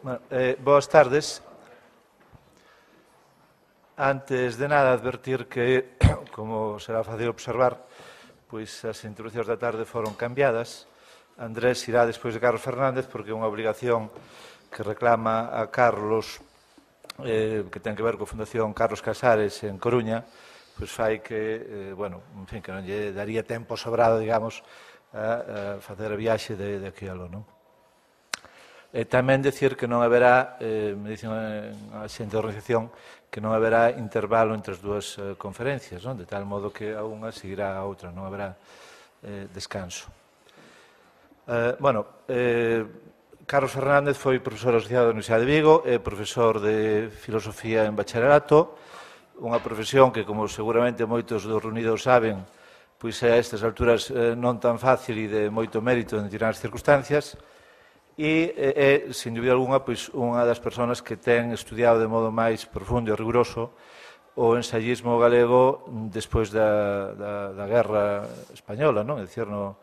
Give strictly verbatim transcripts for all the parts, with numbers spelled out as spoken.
Bueno, eh, boas tardes. Antes de nada, advertir que, como será fácil observar, pois as introducións da tarde foron cambiadas. Andrés irá despois de Carlos Fernández porque é unha obligación que reclama a Carlos, eh, que ten que ver coa Fundación Carlos Casares en Coruña, pois fai que, eh, bueno, en fin, que non lle daría tempo sobrado, digamos, a, a facer a viaxe de, de aquí a lo, non? E tamén decir que non haberá, eh, me dicen a xente da organización, que non haberá intervalo entre as dúas eh, conferencias, non? De tal modo que a unha seguirá a outra, non haberá eh, descanso. Eh, bueno, eh, Carlos Fernández foi profesor asociado da Universidade de Vigo e profesor de filosofía en bacharelato, unha profesión que, como seguramente moitos dos reunidos saben, pois é a estas alturas eh, non tan fácil e de moito mérito en determinadas circunstancias, e é, sin dúbida alguna, pois, unha das persoas que ten estudiado de modo máis profundo e riguroso o ensayismo galego despois da, da, da Guerra Española, non? É dicir, no,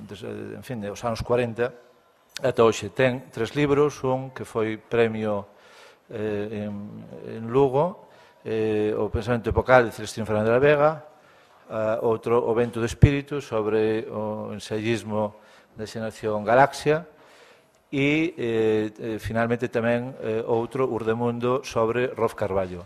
en fin, dos anos cuarenta ata hoxe. Ten tres libros, un que foi premio eh, en, en Lugo, eh, o Pensamento Epocal de Celestino Fernández de la Vega, uh, outro, O Vento do Espírito, sobre o ensayismo da xeración Galaxia, e, eh, eh, finalmente, tamén eh, outro, Urdemundo, sobre Rolf Carballo.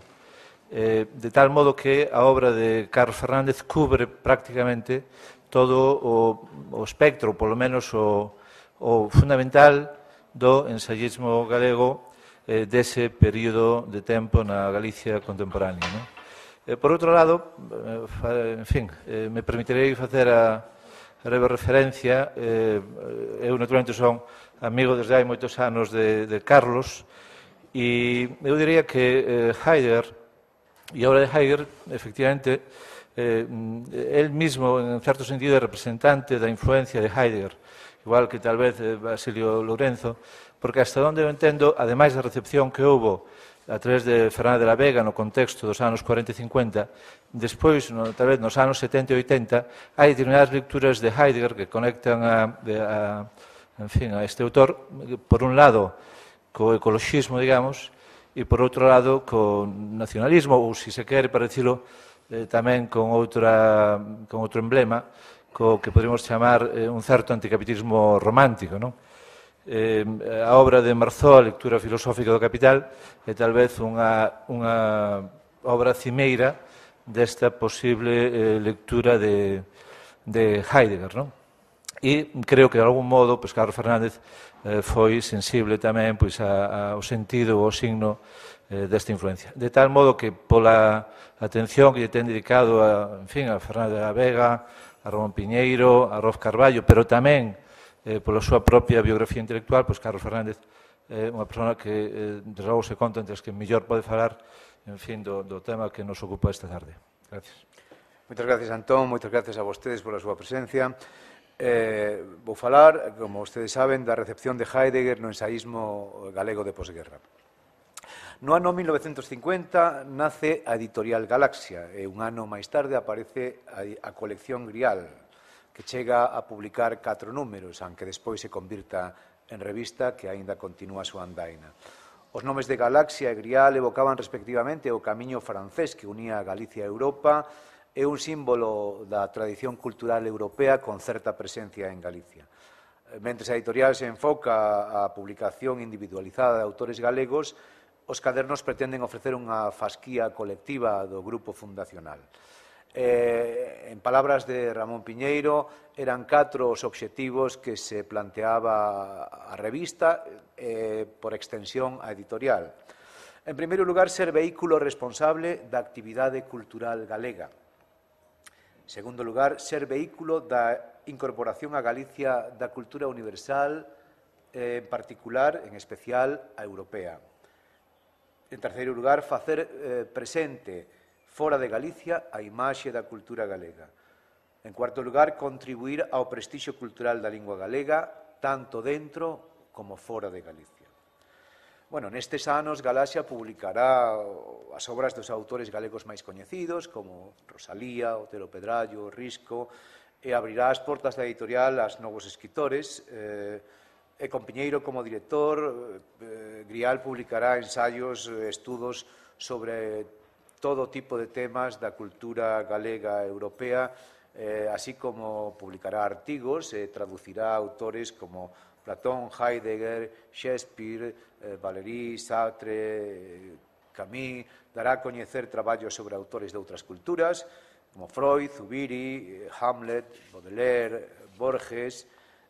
Eh, de tal modo que a obra de Carlos Fernández cubre prácticamente todo o, o espectro, polo menos o, o fundamental do ensayismo galego eh, dese período de tempo na Galicia contemporánea, non? Eh, por outro lado, eh, en fin, eh, me permitirei facer a breve referencia. Eh, eu, naturalmente, son amigo desde hai moitos anos de, de Carlos, e eu diría que eh, Heidegger, e a obra de Heidegger, efectivamente, eh, él mismo, en certo sentido, é representante da influencia de Heidegger, igual que tal vez eh, Basilio Lourenço, porque hasta onde eu entendo, ademais da recepción que houbo a través de Fernández de la Vega no contexto dos anos cuarenta e cincuenta, despois, no, tal vez nos anos setenta e oitenta, hai determinadas lecturas de Heidegger que conectan a, a en fin, a este autor, por un lado, co ecologismo, digamos, e por outro lado, co nacionalismo, ou, se se quere, para dicilo, eh, tamén con, outra, con outro emblema, co que podemos chamar eh, un certo anticapitalismo romántico, non? Eh, a obra de Marceau, a lectura filosófica do Capital, é tal vez unha, unha obra cimeira desta posible eh, lectura de, de Heidegger, non? E creo que, de algún modo, pois, Carlos Fernández eh, foi sensible tamén, pois, a, a, ao sentido, ao signo eh, desta influencia. De tal modo que, pola atención que lle ten dedicado a, en fin, a Fernández de la Vega, a Ramón Piñeiro, a Rolf Carballo, pero tamén eh, pola súa propia biografía intelectual, pois Carlos Fernández é unha persona que, eh, desde logo, se conta entre as que mellor pode falar, en fin, do, do tema que nos ocupa esta tarde. Gracias. Moitas gracias, Antón. Moitas gracias a vostedes pola súa presencia. Eh, vou falar, como vostedes saben, da recepción de Heidegger no ensaísmo galego de posguerra. No ano mil novecentos cincuenta nace a editorial Galaxia e un ano máis tarde aparece a, a colección Grial, que chega a publicar catro números, aunque despois se convirta en revista que aínda continúa a súa andaina. Os nomes de Galaxia e Grial evocaban respectivamente o camiño francés que unía a Galicia a Europa, é un símbolo da tradición cultural europea con certa presencia en Galicia. Mentres a editorial se enfoca a publicación individualizada de autores galegos, os cadernos pretenden ofrecer unha fasquía colectiva do grupo fundacional. Eh, en palabras de Ramón Piñeiro, eran catro os obxectivos que se planteaba a revista, eh, por extensión a editorial. En primeiro lugar, ser vehículo responsable da actividade cultural galega. En segundo lugar, ser vehículo da incorporación a Galicia da cultura universal, eh, en particular, en especial, a europea. En terceiro lugar, facer eh, presente fora de Galicia a imaxe da cultura galega. En cuarto lugar, contribuir ao prestixio cultural da lingua galega, tanto dentro como fora de Galicia. Bueno, nestes anos, Galaxia publicará as obras dos autores galegos máis coñecidos, como Rosalía, Otero Pedrallo, Risco, e abrirá as portas da editorial aos novos escritores, eh, e con Piñeiro como director, eh, Grial publicará ensaios, estudos sobre todo tipo de temas da cultura galega e europea, eh, así como publicará artigos e traducirá autores como Platón, Heidegger, Shakespeare, eh, Valéry, Sartre, Camus. Dará a coñecer traballos sobre autores de outras culturas, como Freud, Zubiri, Hamlet, Baudelaire, Borges.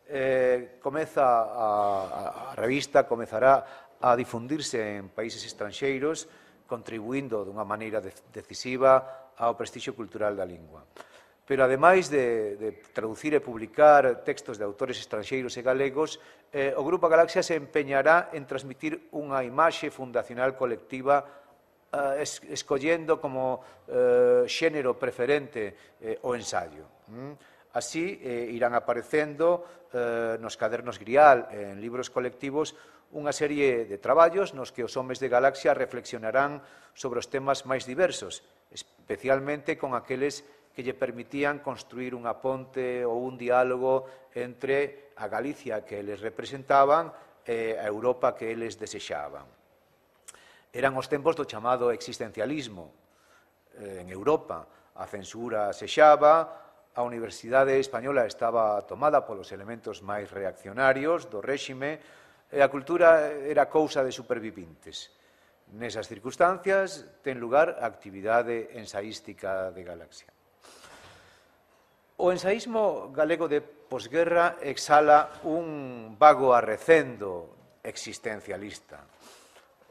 Eh, comeza a, a, a revista comezará a difundirse en países estranxeiros, contribuindo dunha maneira de, decisiva ao prestixio cultural da lingua. Pero, ademais de, de traducir e publicar textos de autores estranxeiros e galegos, eh, o Grupo Galaxia se empeñará en transmitir unha imaxe fundacional colectiva, eh, es, escollendo como eh, xénero preferente eh, o ensaio. Mm? Así, eh, irán aparecendo eh, nos cadernos Grial, en libros colectivos, unha serie de traballos nos que os homes de Galaxia reflexionarán sobre os temas máis diversos, especialmente con aqueles que lle permitían construir unha ponte ou un diálogo entre a Galicia que eles representaban e a Europa que eles desexaban. Eran os tempos do chamado existencialismo. En Europa a censura sexaba, a Universidade Española estaba tomada polos elementos máis reaccionarios do réxime e a cultura era cousa de supervivintes. Nesas circunstancias ten lugar a actividade ensaística de Galaxia. O ensaísmo galego de posguerra exhala un vago arrecendo existencialista.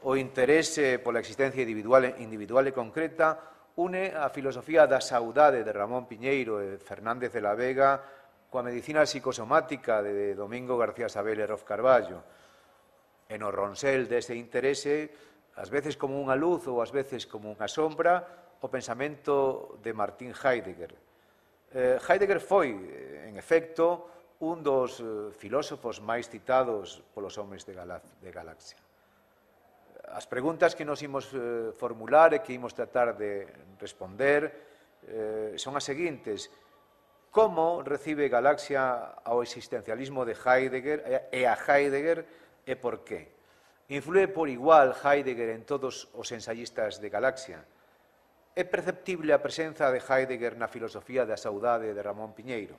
O interese pola existencia individual, individual e concreta une a filosofía da saudade de Ramón Piñeiro e Fernández de la Vega coa medicina psicosomática de Domingo García Sabel e Rof Carballo. E no ronsel dese interese, ás veces como unha luz ou ás veces como unha sombra, o pensamento de Martin Heidegger. Eh, Heidegger foi, en efecto, un dos eh, filósofos máis citados polos homes de, Gala de Galaxia. As preguntas que nos imos eh, formular e que imos tratar de responder eh, son as seguintes. Como recibe Galaxia ao existencialismo de Heidegger e a Heidegger e por qué? Inflúe por igual Heidegger en todos os ensayistas de Galaxia? É perceptible a presenza de Heidegger na filosofía da saudade de Ramón Piñeiro?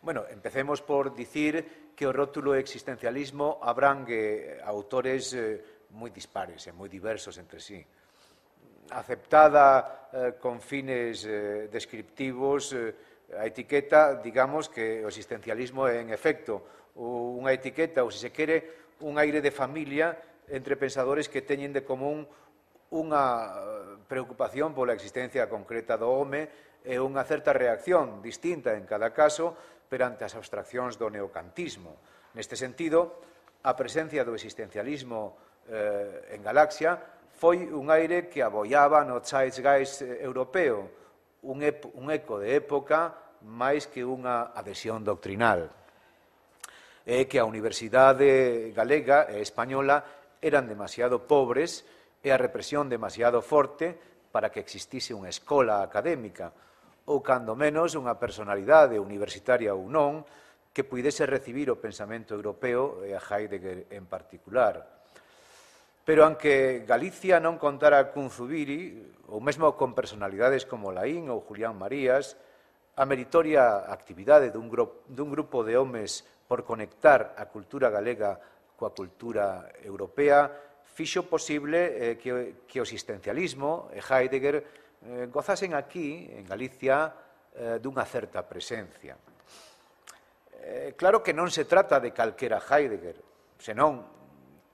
Bueno, empecemos por dicir que o rótulo existencialismo abrangue autores eh, moi dispares e moi diversos entre sí. Aceptada eh, con fines eh, descriptivos, eh, a etiqueta, digamos que o existencialismo é, en efecto, unha etiqueta, ou, se se quere, un aire de familia entre pensadores que teñen de común unha preocupación pola existencia concreta do home e unha certa reacción distinta en cada caso perante as abstraccións do neocantismo. Neste sentido, a presencia do existencialismo eh, en Galaxia foi un aire que aboiaba no zeitgeist europeo, un, un eco de época máis que unha adhesión doctrinal. É que a Universidade Galega e Española eran demasiado pobres e a represión demasiado forte para que existise unha escola académica ou, cando menos, unha personalidade universitaria ou non que puidese recibir o pensamento europeo e a Heidegger en particular. Pero, aunque Galicia non contara cun Zubiri, ou mesmo con personalidades como Laín ou Julián Marías, a meritoria actividade dun grupo, dun grupo de homes por conectar a cultura galega coa cultura europea fixo posible eh, que, que o existencialismo e Heidegger eh, gozasen aquí, en Galicia, eh, dunha certa presencia. Eh, claro que non se trata de calquera Heidegger, senón,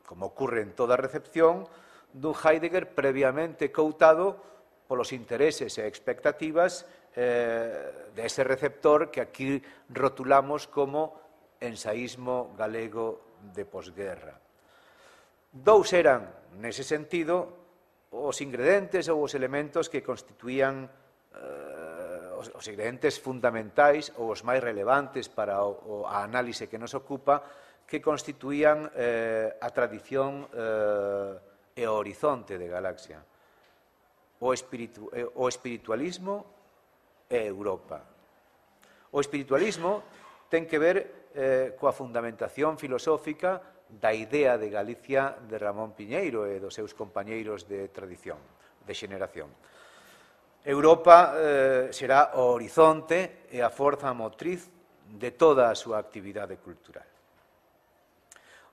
como ocurre en toda recepción, dun Heidegger previamente coutado polos intereses e expectativas eh, de ese receptor que aquí rotulamos como ensaísmo galego de posguerra. Dous eran, nese sentido, os ingredientes ou os elementos que constituían eh, os, os ingredientes fundamentais ou os máis relevantes para o, o, a análise que nos ocupa, que constituían eh, a tradición eh, e o horizonte de Galaxia. O, espiritu, o espiritualismo e Europa. O espiritualismo ten que ver eh, coa fundamentación filosófica da idea de Galicia de Ramón Piñeiro e dos seus compañeiros de tradición, de xeneración. Europa eh, será o horizonte e a forza motriz de toda a súa actividade cultural.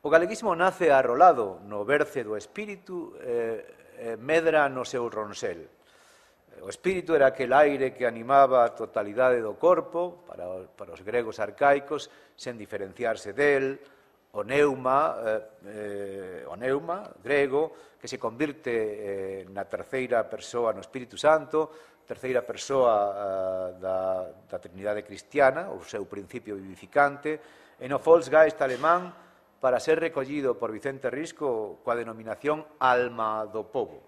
O galeguismo nace arrolado no berce do espírito e eh, medra no seu ronsel. O espírito era aquel aire que animaba a totalidade do corpo, para, para os gregos arcaicos, sen diferenciarse del, o neuma, eh, o neuma grego, que se convirte eh, na terceira persoa no Espírito Santo, terceira persoa eh, da, da Trinidade Cristiana, o seu principio vivificante, e no Volksgeist alemán, para ser recollido por Vicente Risco coa denominación alma do povo.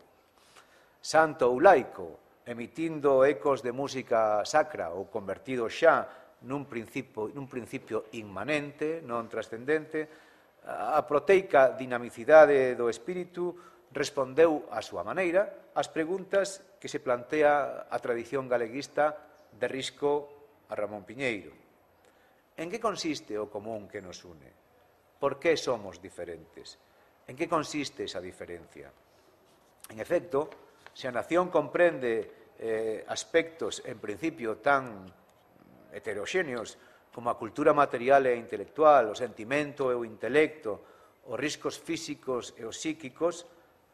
Santo ou laico, emitindo ecos de música sacra ou convertido xa nun principio, nun principio inmanente, non trascendente, a proteica dinamicidade do espírito respondeu á súa maneira ás preguntas que se plantea a tradición galeguista de Risco a Ramón Piñeiro. En que consiste o común que nos une? Por que somos diferentes? En que consiste esa diferencia? En efecto, se a nación comprende Eh, aspectos, en principio, tan heteroxéneos como a cultura material e intelectual, o sentimento e o intelecto, os riscos físicos e os psíquicos,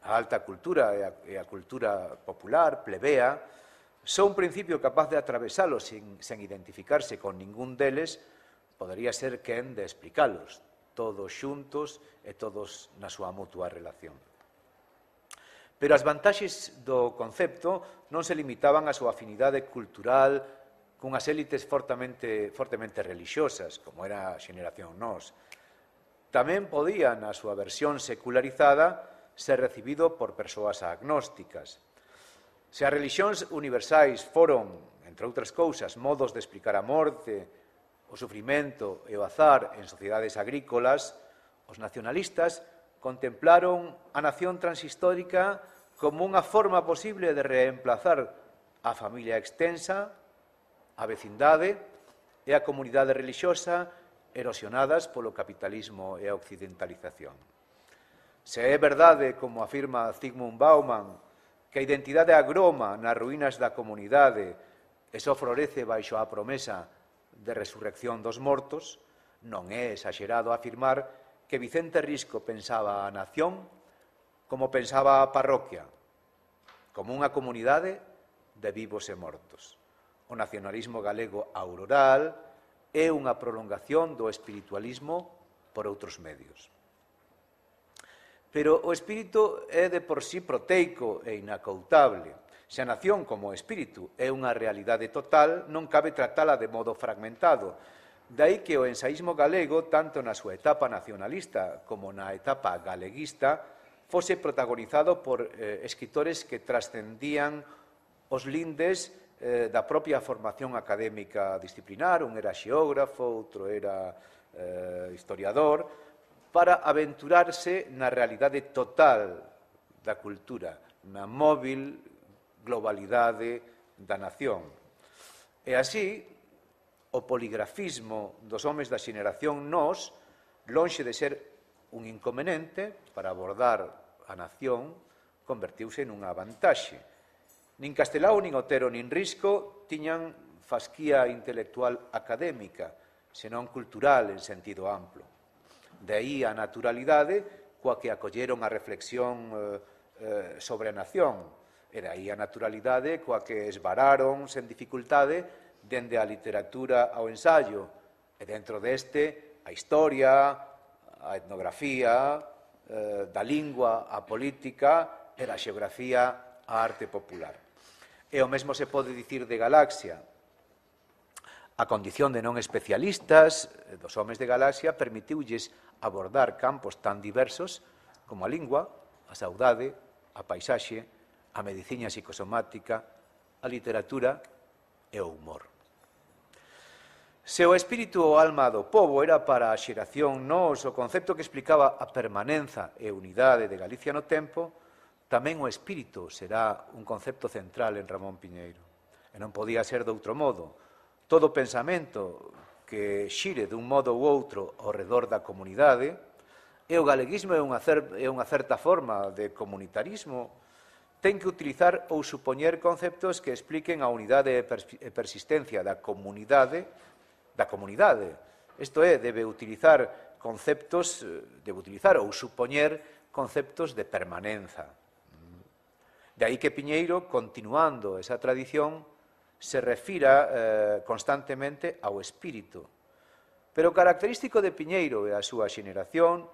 a alta cultura e a, e a cultura popular, plebea, son un principio capaz de atravesalos sin, sen identificarse con ningún deles, podería ser quen de explicalos, todos xuntos e todos na súa mutua relación. Pero as vantaxes do concepto non se limitaban á súa afinidade cultural cunhas élites fortemente, fortemente religiosas, como era a xeneración nós. Tamén podía, na súa versión secularizada, ser recibido por persoas agnósticas. Se as religións universais foron, entre outras cousas, modos de explicar a morte, o sufrimento e o azar en sociedades agrícolas, os nacionalistas contemplaron a nación transhistórica como unha forma posible de reemplazar a familia extensa, a vecindade e a comunidade religiosa erosionadas polo capitalismo e a occidentalización. Se é verdade, como afirma Zygmunt Bauman, que a identidade agroma nas ruínas da comunidade e só florece baixo a promesa de resurrección dos mortos, non é exagerado afirmar que Vicente Risco pensaba a nación como pensaba a parroquia, como unha comunidade de vivos e mortos. O nacionalismo galego auroral é unha prolongación do espiritualismo por outros medios. Pero o espírito é de por sí proteico e inacoutable. Se a nación como espírito é unha realidade total, non cabe tratala de modo fragmentado. Daí que o ensaísmo galego, tanto na súa etapa nacionalista como na etapa galeguista, fose protagonizado por eh, escritores que trascendían os lindes eh, da propia formación académica disciplinar, un era xeógrafo, outro era eh, historiador, para aventurarse na realidade total da cultura, na móvil globalidade da nación. E así, o poligrafismo dos homes da xeneración nós, lonxe de ser un inconveniente para abordar a nación, convertiuse nunha vantaxe. Nin Castelao, nin Otero, nin Risco tiñan fasquía intelectual académica, senón cultural en sentido amplo. De aí a naturalidade coa que acolleron a reflexión eh, sobre a nación, e de aí a naturalidade coa que esvararon sen dificultade dende a literatura ao ensaio, e dentro deste a historia, a etnografía, eh, da lingua, a política e da xeografía, a arte popular. E o mesmo se pode dicir de Galaxia. A condición de non especialistas dos homes de Galaxia permitiulles abordar campos tan diversos como a lingua, a saudade, a paisaxe, a medicina psicosomática, a literatura e o humor. Se o espírito ou alma do povo era para a xeración nós o concepto que explicaba a permanenza e unidade de Galicia no tempo, tamén o espírito será un concepto central en Ramón Piñeiro. E non podía ser de outro modo. Todo pensamento que xire dun modo ou outro ao redor da comunidade, e o galeguismo é unha, cer é unha certa forma de comunitarismo, ten que utilizar ou supoñer conceptos que expliquen a unidade e persistencia da comunidade, da comunidade. Isto é, debe utilizar conceptos, debe utilizar ou supoñer conceptos de permanenza. De aí que Piñeiro, continuando esa tradición, se refira eh, constantemente ao espírito. Pero o característico de Piñeiro e a súa xeneración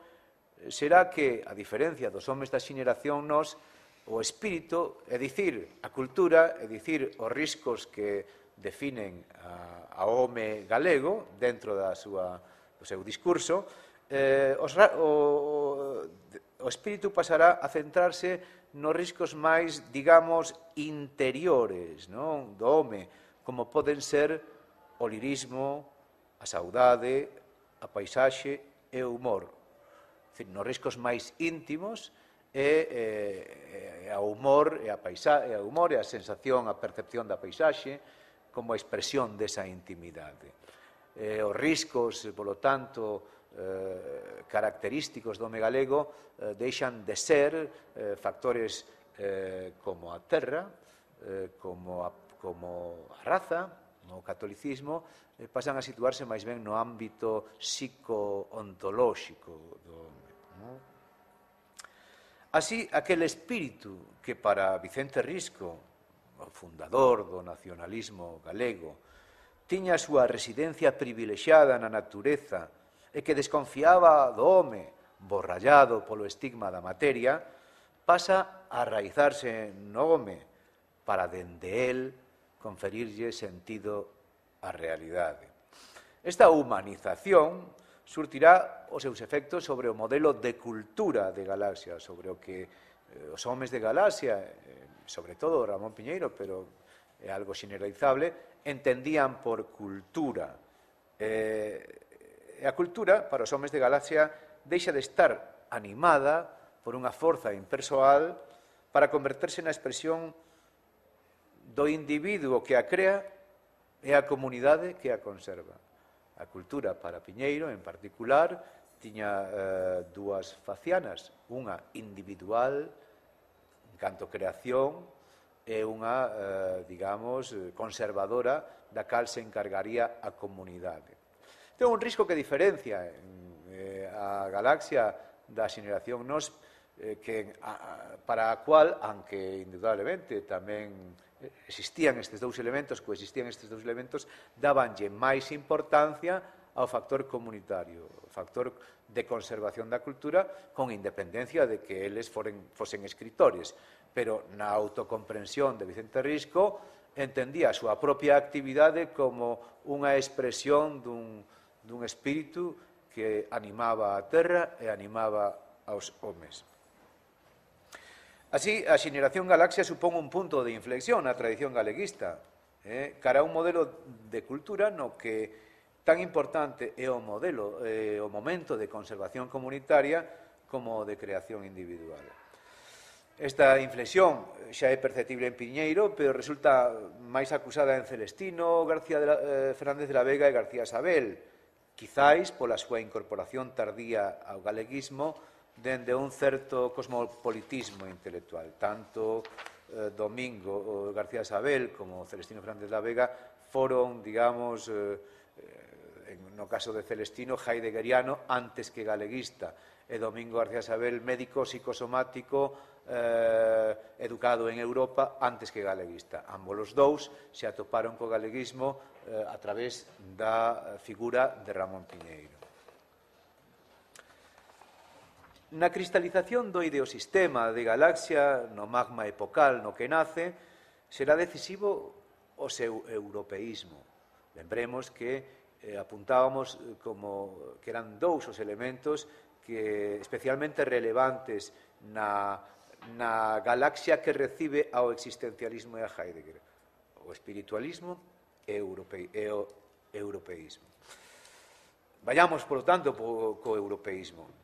será que, a diferencia dos homes da xeneración nos, o espírito, é dicir, a cultura, é dicir, os riscos que definen a, a home galego dentro da súa, do seu discurso, eh, os, o, o espírito pasará a centrarse nos riscos máis, digamos, interiores, non? Do home, como poden ser o lirismo, a saudade, a paisaxe e o humor. Dicir, nos riscos máis íntimos é, é, é o humor e a paisaxe, é o humor e a sensación, a percepción da paisaxe como a expresión desa intimidade. Eh, os riscos, polo tanto, Eh, característicos do home galego eh, deixan de ser eh, factores eh, como a terra, eh, como, a, como a raza, o catolicismo, eh, pasan a situarse máis ben no ámbito psico-ontolóxico do home. Non? Así, aquel espírito que para Vicente Risco, o fundador do nacionalismo galego, tiña a súa residencia privilexiada na natureza e que desconfiaba do home, borrallado polo estigma da materia, pasa a arraizarse no home para, dende el, conferirlle sentido á realidade. Esta humanización surtirá os seus efectos sobre o modelo de cultura de Galaxia, sobre o que eh, os homes de Galaxia, eh, sobre todo Ramón Piñeiro, pero é algo generalizable, entendían por cultura. Eh, E a cultura, para os homes de Galaxia, deixa de estar animada por unha forza impersoal para converterse na expresión do individuo que a crea e a comunidade que a conserva. A cultura, para Piñeiro, en particular, tiña eh, dúas facianas, unha individual, en canto creación, e unha, eh, digamos, conservadora, da cal se encargaría a comunidade. Ten un risco que diferencia eh, a Galaxia da xeneración nos, eh, que, a, para a cual, aunque indudablemente tamén existían estes dous elementos, coexistían estes dous elementos, dabanlle máis importancia ao factor comunitario, o factor de conservación da cultura, con independencia de que eles foren, fosen escritores. Pero na autocomprensión de Vicente Risco entendía a súa propia actividade como unha expresión dun dun espírito que animaba a terra e animaba aos homes. Así, a xeneración Galaxia supón un punto de inflexión na tradición galeguista, eh, cara a un modelo de cultura no que tan importante é o modelo, eh, o momento de conservación comunitaria como de creación individual. Esta inflexión xa é perceptible en Piñeiro, pero resulta máis acusada en Celestino, García de la, eh, Fernández de la Vega e García Sabel, quizáis pola súa incorporación tardía ao galeguismo dende un certo cosmopolitismo intelectual. Tanto eh, Domingo García Sabel como Celestino Fernández de la Vega foron, digamos, eh, no caso de Celestino, heideggeriano antes que galeguista, e Domingo García Sabel, médico psicosomático, eh, educado en Europa antes que galeguista. Ambos os dous se atoparon co galeguismo eh, a través da figura de Ramón Piñeiro. Na cristalización do ideosistema de Galaxia, no magma epocal no que nace, será decisivo o seu europeísmo. Lembremos que eh, apuntábamos como que eran dous os elementos que especialmente relevantes na, na Galaxia que recibe ao existencialismo e a Heidegger. O espiritualismo e, europe, e o europeísmo. Vayamos, por lo tanto, po, co europeísmo.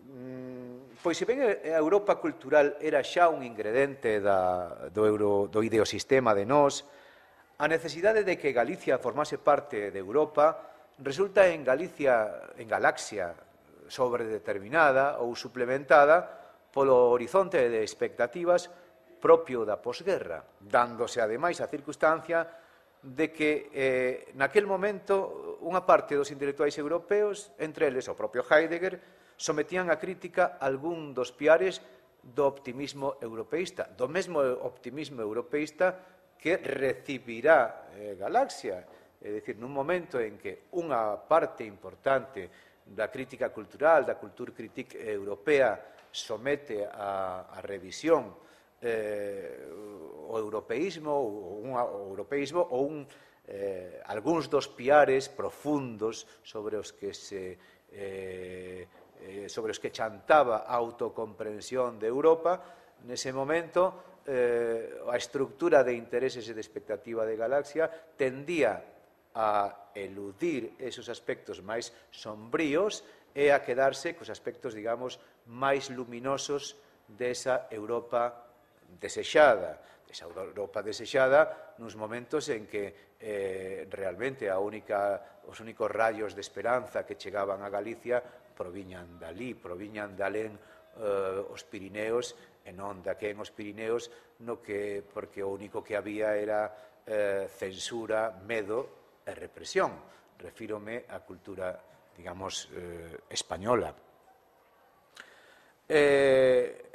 Mm, pois se ben a Europa cultural era xa un ingrediente da, do, euro, do ideosistema de nós, a necesidade de que Galicia formase parte de Europa resulta en Galicia, en Galaxia, sobredeterminada ou suplementada polo horizonte de expectativas propio da posguerra, dándose ademais a circunstancia de que eh, naquel momento unha parte dos intelectuais europeos, entre eles o propio Heidegger, sometían a crítica algún dos piares do optimismo europeísta, do mesmo optimismo europeísta que recibirá eh, Galaxia, é dicir, nun momento en que unha parte importante da crítica cultural, da culturkritik europea, somete a, a revisión eh, o europeísmo ou un o europeísmo ou un, eh, algúns dos piares profundos sobre os que se eh, eh, sobre os que chantaba a autocomprensión de Europa. Nese momento eh, a estructura de intereses e de expectativa de Galaxia tendía a eludir esos aspectos máis sombríos e a quedarse cos aspectos, digamos, máis luminosos desa Europa desexada, esa Europa desexada nuns momentos en que eh, realmente a única, os únicos rayos de esperanza que chegaban a Galicia proviñan dali, proviñan de alén eh, os Pirineos e non de aquí en os Pirineos, no que, porque o único que había era eh, censura, medo e represión. Refírome á cultura, digamos, eh, española. Eh,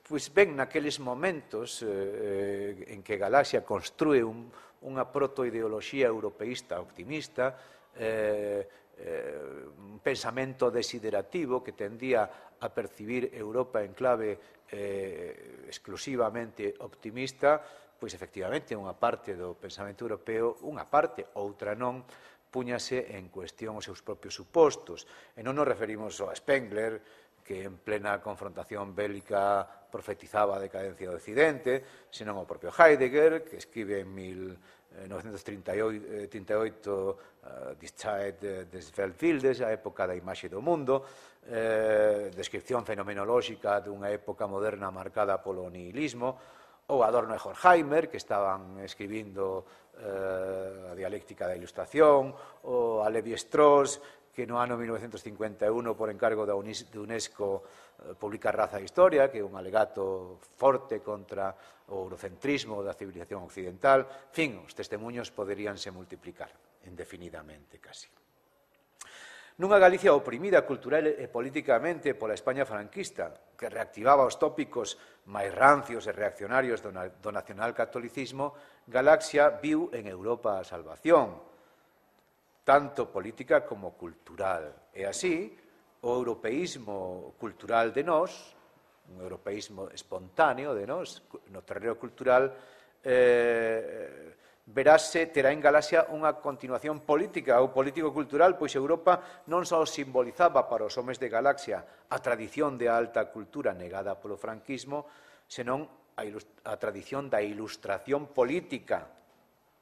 Pois ben, naqueles momentos eh, en que Galaxia construe un, unha protoideoloxía europeísta optimista, eh, eh, un pensamento desiderativo que tendía a percibir Europa en clave eh, exclusivamente optimista, pois efectivamente unha parte do pensamento europeo, unha parte, outra non, púñase en cuestión os seus propios supostos. E non nos referimos ao Spengler, que en plena confrontación bélica profetizaba a decadencia do Occidente, senón ao propio Heidegger, que escribe en mil novecentos trinta e oito uh, Die Zeit des Weltbildes, a época da imaxe do mundo, eh, descripción fenomenolóxica dunha época moderna marcada polo nihilismo, ou Adorno e Horkheimer, que estaban escribindo eh, a dialéctica da ilustración, ou a Levi-Strauss, que no ano mil novecentos cincuenta e un, por encargo da UNESCO, publica Raza e Historia, que é un alegato forte contra o eurocentrismo da civilización occidental. En fin, os testemunhos poderíanse multiplicar indefinidamente, casi. Nunha Galicia oprimida cultural e políticamente pola España franquista, que reactivaba os tópicos máis rancios e reaccionarios do nacionalcatolicismo, Galaxia viu en Europa a salvación, tanto política como cultural. E así, o europeísmo cultural de nós, un europeísmo espontáneo de nós, no terreo cultural, eh, verase, terá en Galaxia unha continuación política ou político-cultural, pois Europa non só simbolizaba para os homes de Galaxia a tradición de alta cultura negada polo franquismo, senón a, a tradición da ilustración política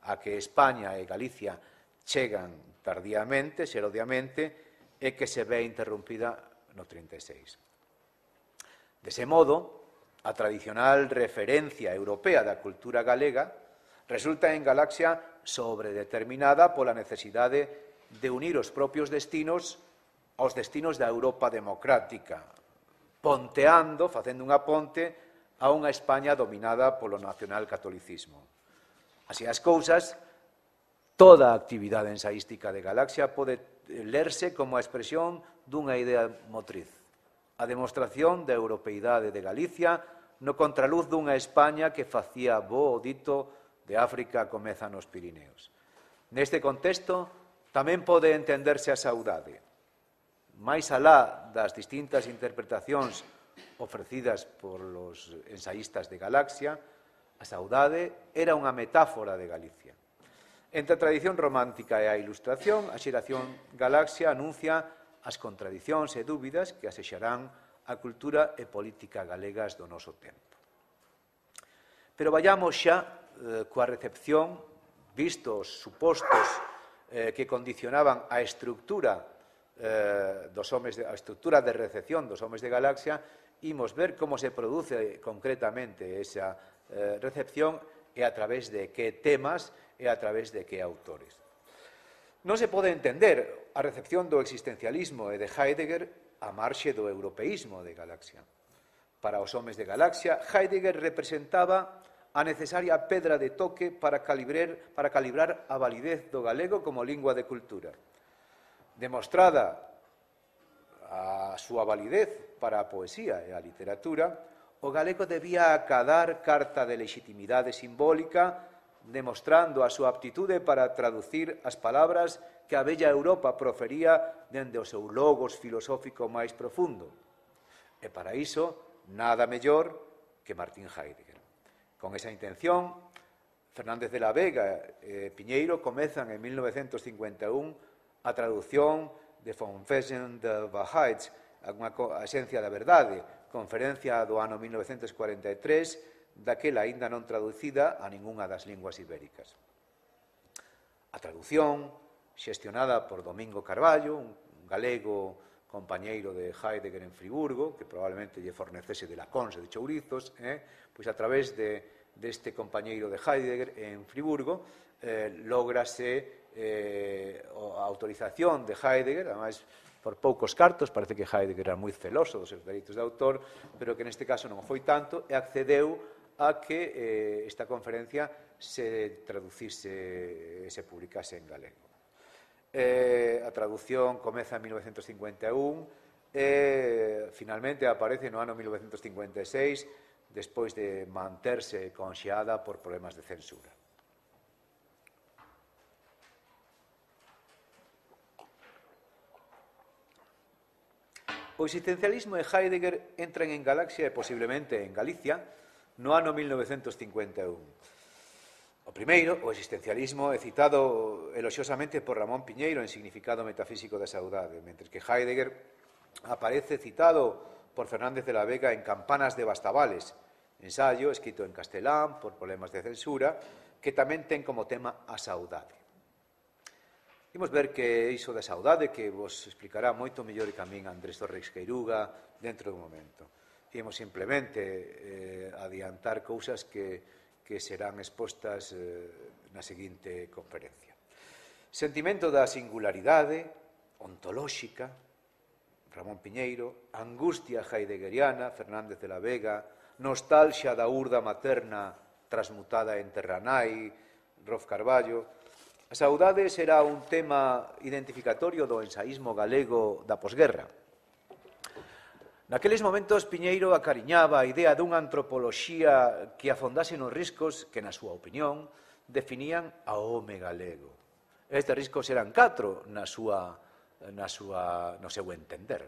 a que España e Galicia chegan tardíamente, xerodiamente, e que se ve interrompida no trinta e seis. Dese modo, a tradicional referencia europea da cultura galega resulta en Galaxia sobredeterminada pola necesidade de unir os propios destinos aos destinos da Europa democrática, ponteando, facendo unha ponte a unha España dominada polo nacionalcatolicismo. Así as cousas, toda a actividade ensaística de Galaxia pode lerse como a expresión dunha idea motriz, a demostración da europeidade de Galicia no contraluz dunha España que facía bo o dito de África comeza nos Pirineos. Neste contexto, tamén pode entenderse a saudade. máis alá das distintas interpretacións ofrecidas por los ensaístas de Galaxia, a saudade era unha metáfora de Galicia. Entre a tradición romántica e a ilustración, a xeración Galaxia anuncia as contradicións e dúbidas que asexarán a cultura e política galegas do noso tempo. Pero vayamos xa eh, coa recepción, vistos os supostos eh, que condicionaban a estructura eh, dos homes de, a estructura de recepción dos homes de Galaxia, imos ver como se produce concretamente esa eh, recepción e a través de que temas e a través de que autores. Non se pode entender a recepción do existencialismo e de Heidegger a marxe do europeísmo de Galaxia. Para os homes de Galaxia, Heidegger representaba a necesaria pedra de toque para calibrar, para calibrar a validez do galego como lingua de cultura. Demostrada a súa validez para a poesía e a literatura, o galego debía acadar carta de legitimidade simbólica, demostrando a súa aptitude para traducir as palabras que a bella Europa profería dende o seu logos filosófico máis profundo. E para iso, nada mellor que Martín Heidegger. Con esa intención, Fernández de la Vega e Piñeiro comezan en mil novecentos cincuenta e un a traducción de Confession der Wahrheit, a esencia da verdade, conferencia do ano mil novecentos cuarenta e tres, daquela aínda non traducida a ningunha das linguas ibéricas. A traducción, xestionada por Domingo Carballo, un galego compañeiro de Heidegger en Friburgo, que probablemente lle fornecese de lacóns e de chourizos, eh? pois a través de, deste compañeiro de Heidegger en Friburgo, eh, lógrase eh, a autorización de Heidegger, ademais, por poucos cartos, parece que Heidegger era moi celoso dos seus dereitos de autor, pero que neste caso non foi tanto, e accedeu a que eh, esta conferencia se traducise e se publicase en galego. Eh, a traducción comeza en mil novecentos cincuenta e un e finalmente aparece no ano mil novecentos cincuenta e seis despois de manterse conxeada por problemas de censura. O existencialismo e Heidegger entran en Galaxia e posiblemente en Galicia no ano mil novecentos cincuenta e un. O primeiro, o existencialismo, é citado eloxiosamente por Ramón Piñeiro en Significado metafísico da saudade, mentre que Heidegger aparece citado por Fernández de la Vega en Campanas de Bastavales, ensaio escrito en castelán por problemas de censura, que tamén ten como tema a saudade. Imos ver que iso da saudade que vos explicará moito mellor que a min Andrés Torres Queiruga dentro dun momento. Imos simplemente eh, adiantar cousas que que serán expostas eh, na seguinte conferencia. Sentimento da singularidade ontolóxica, Ramón Piñeiro, angustia heideggeriana, Fernández de la Vega, nostalgia da urda materna transmutada en terranai, Rolf Carballo. A saudade será un tema identificatorio do ensaísmo galego da posguerra. Naqueles momentos, Piñeiro acariñaba a idea dunha antropoloxía que afondase nos riscos que, na súa opinión, definían ao home galego. Estes riscos eran catro na súa, na súa, no seu entender.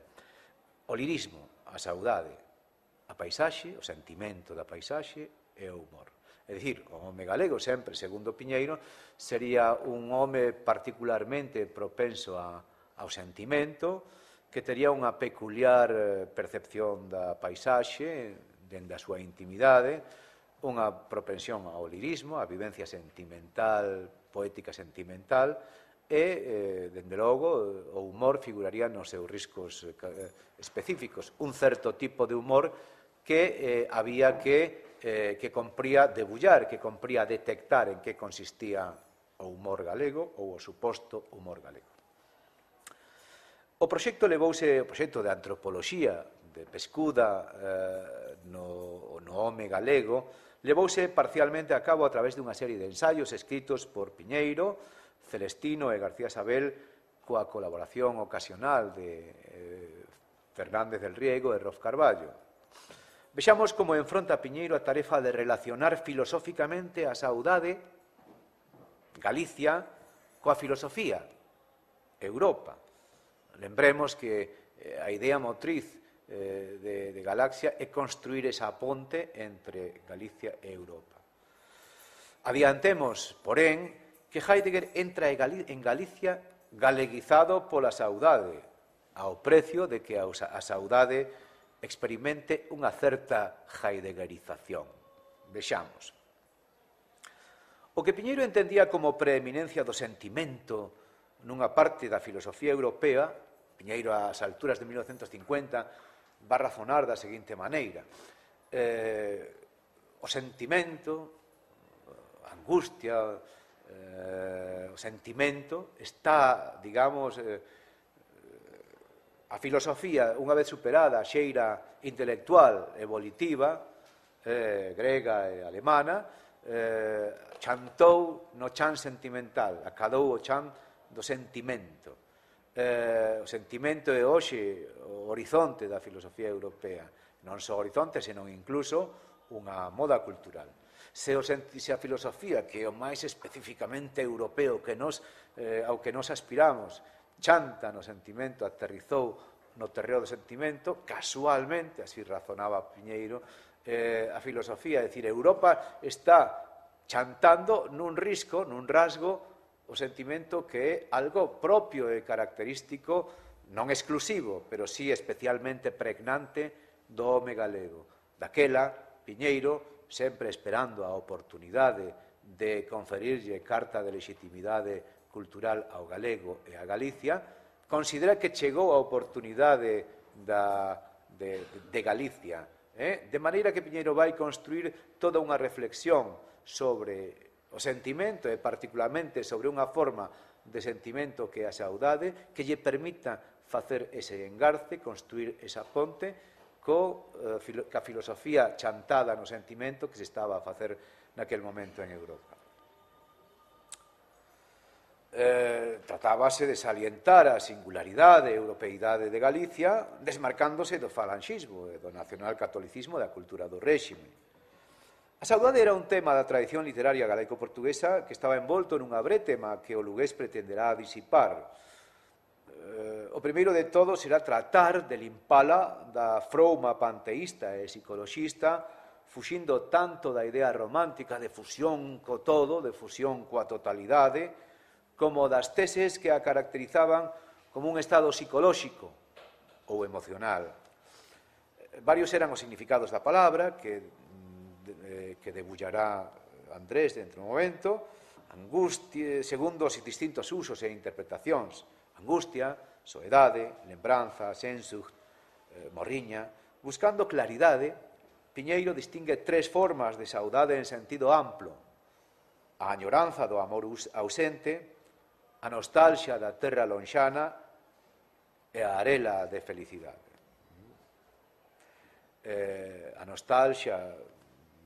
O lirismo, a saudade, a paisaxe, o sentimento da paisaxe e o humor. É dicir, o home galego, sempre, segundo Piñeiro, sería un home particularmente propenso a, ao sentimento, que tería unha peculiar percepción da paisaxe, dende a súa intimidade, unha propensión ao lirismo, a vivencia sentimental, poética sentimental, e, eh, dende logo, o humor figuraría nos seus riscos específicos. Un certo tipo de humor que eh, había que, eh, que compría debullar, que compría detectar en que consistía o humor galego ou o suposto humor galego. O proxecto levouse, o proxecto de antropoloxía de pescuda eh, no, no home galego, levouse parcialmente a cabo a través dunha serie de ensaios escritos por Piñeiro, Celestino e García Sabel, coa colaboración ocasional de eh, Fernández del Riego e Rolf Carballo. Vexamos como enfronta Piñeiro a tarefa de relacionar filosóficamente a saudade, Galicia, coa filosofía, Europa. Lembremos que a idea motriz eh, de, de Galaxia é construir esa ponte entre Galicia e Europa. Adiantemos, porén, que Heidegger entra en Galicia galeguizado pola saudade, ao precio de que a saudade experimente unha certa heideggerización. Vexamos. O que Piñeiro entendía como preeminencia do sentimento nunha parte da filosofía europea, Piñeiro ás alturas de mil novecentos cincuenta va a razonar da seguinte maneira. Eh, o sentimento, a angustia, eh, o sentimento, está, digamos, eh, a filosofía, unha vez superada a xeira intelectual evolutiva, eh, grega e alemana, eh, chantou no chan sentimental, acadou o chan do sentimento. Eh, o sentimento é hoxe o horizonte da filosofía europea, non só horizonte, senón incluso unha moda cultural. Se, o, se a filosofía, que é o máis especificamente europeo que nos, eh, ao que nos aspiramos, chanta no sentimento, aterrizou no terreo do sentimento, casualmente, así razonaba Piñeiro, eh, a filosofía, é dicir, Europa está chantando nun risco, nun rasgo, o sentimento que é algo propio e característico, non exclusivo, pero sí especialmente pregnante do home galego. Daquela, Piñeiro, sempre esperando a oportunidade de conferirlle carta de legitimidade cultural ao galego e a Galicia, considera que chegou a oportunidade da, de, de Galicia, eh? de maneira que Piñeiro vai construir toda unha reflexión sobre o sentimento e particularmente sobre unha forma de sentimento que é a saudade que lle permita facer ese engarce, construir esa ponte co, eh, filo, ca filosofía chantada no sentimento que se estaba a facer naquel momento en Europa. Eh, tratábase de salientar a singularidade e europeidade de Galicia desmarcándose do falanxismo e do nacionalcatolicismo da cultura do réxime. A saudade era un tema da tradición literaria galaico-portuguesa que estaba envolto nunha brétema que o lugués pretenderá disipar. Eh, o primeiro de todo será tratar de limpala da frouma panteísta e psicoloxista, fuxindo tanto da idea romántica de fusión co todo, de fusión coa totalidade, como das teses que a caracterizaban como un estado psicolóxico ou emocional. Varios eran os significados da palabra, que que debullará Andrés dentro do momento, angustia, segundo os distintos usos e interpretacións, angustia, soedade, lembranza, sensucht, eh, morriña. Buscando claridade, Piñeiro distingue tres formas de saudade en sentido amplo: a añoranza do amor ausente, a nostalgia da terra lonxana e a arela de felicidade. Eh, a nostalgia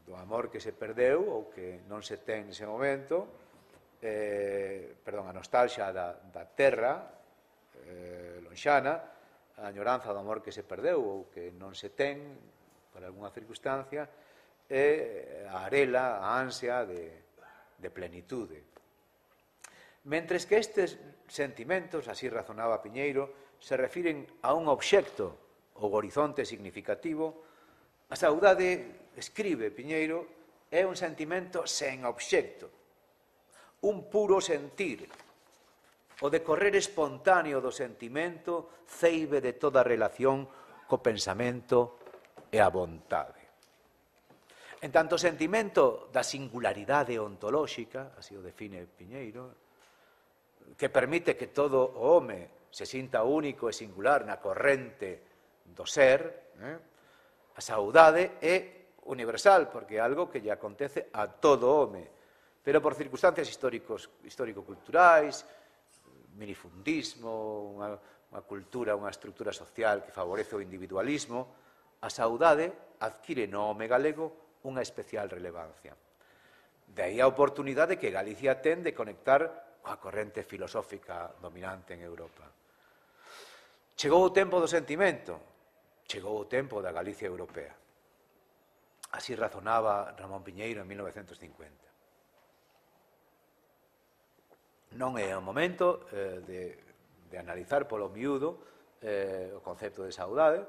do amor que se perdeu ou que non se ten nese momento, eh, perdón, a nostalgia da, da terra eh, lonxana, a añoranza do amor que se perdeu ou que non se ten por algunha circunstancia, e a arela, a ansia de, de plenitude. Mentres que estes sentimentos, así razonaba Piñeiro, se refiren a un obxecto ou horizonte significativo, a saudade, escribe Piñeiro, é un sentimento sen obxecto, un puro sentir. O decorrer espontáneo do sentimento ceibe de toda relación co pensamento e a vontade. En tanto, o sentimento da singularidade ontolóxica, así o define Piñeiro, que permite que todo o home se sinta único e singular na corrente do ser, eh? A saudade é universal, porque é algo que lle acontece a todo home, pero por circunstancias históricos, histórico-culturais, minifundismo, unha, unha cultura, unha estructura social que favorece o individualismo, a saudade adquire no home galego unha especial relevancia. De aí a oportunidade que Galicia ten de conectar coa corrente filosófica dominante en Europa. Chegou o tempo do sentimento, chegou o tempo da Galicia europea. Así razonaba Ramón Piñeiro en mil novecentos cincuenta. Non é o momento eh, de, de analizar polo miúdo eh, o concepto de saudade.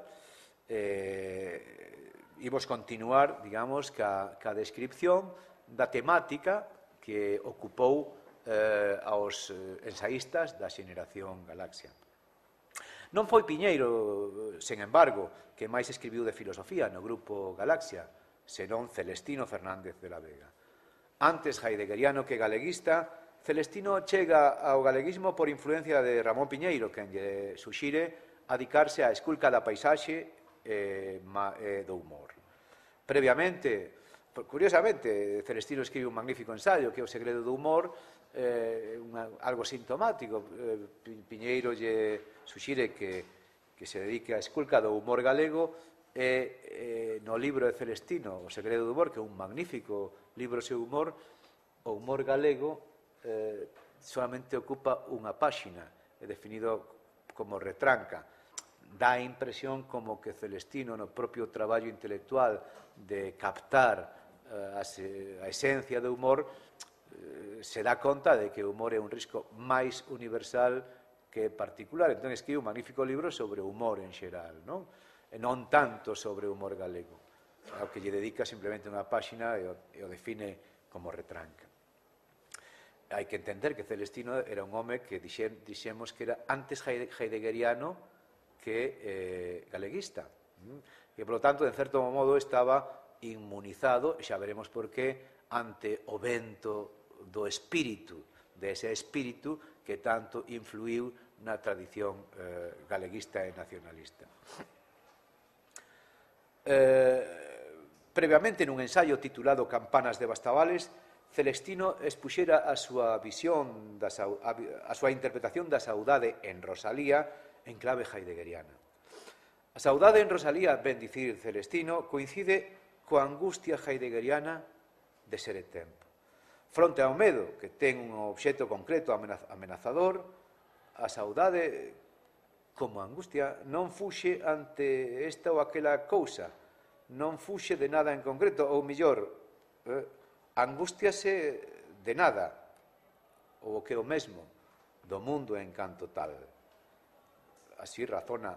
Eh, imos continuar, digamos, ca, ca descripción da temática que ocupou eh, aos ensaístas da xeneración Galaxia. Non foi Piñeiro, sen embargo, que máis escribiu de filosofía no grupo Galaxia, senón Celestino Fernández de la Vega. Antes heideggeriano que galeguista, Celestino chega ao galeguismo por influencia de Ramón Piñeiro, que lle suxire adicarse á esculca da paisaxe e do humor. Previamente, curiosamente, Celestino escribe un magnífico ensaio que é O segredo do humor, eh, unha, algo sintomático. Eh, Piñeiro lle suxire que, que se dedique á esculca do humor galego e eh, no libro de Celestino, O segredo do humor, que é un magnífico libro seu humor, o humor galego eh, solamente ocupa unha páxina, é definido como retranca. Dá a impresión como que Celestino, no propio traballo intelectual de captar eh, a esencia do humor, eh, se dá conta de que o humor é un risco máis universal que particular. Entón, escribe un magnífico libro sobre o humor en xeral, non? E non tanto sobre o humor galego, ao que lle dedica simplemente unha páxina e o, e o define como retranca. Hai que entender que Celestino era un home que dixemos que era antes heideggeriano que eh, galeguista. E, polo tanto, de certo modo, estaba inmunizado, e xa veremos por qué, ante o vento do espírito, dese espírito que tanto influiu na tradición eh, galeguista e nacionalista. Eh, previamente, nun ensaio titulado Campanas de Bastavales, Celestino expuxera a súa visión, da, a súa interpretación da saudade en Rosalía en clave heideggeriana. A saudade en Rosalía, ben dicir Celestino, coincide coa angustia heideggeriana de ser e tempo. Fronte ao medo, que ten un obxecto concreto amenazador, a saudade, como a angustia, non fuxe ante esta ou aquela cousa, non fuxe de nada en concreto, ou millor, eh, angústiase de nada, ou o que é o mesmo, do mundo en canto tal. Así razona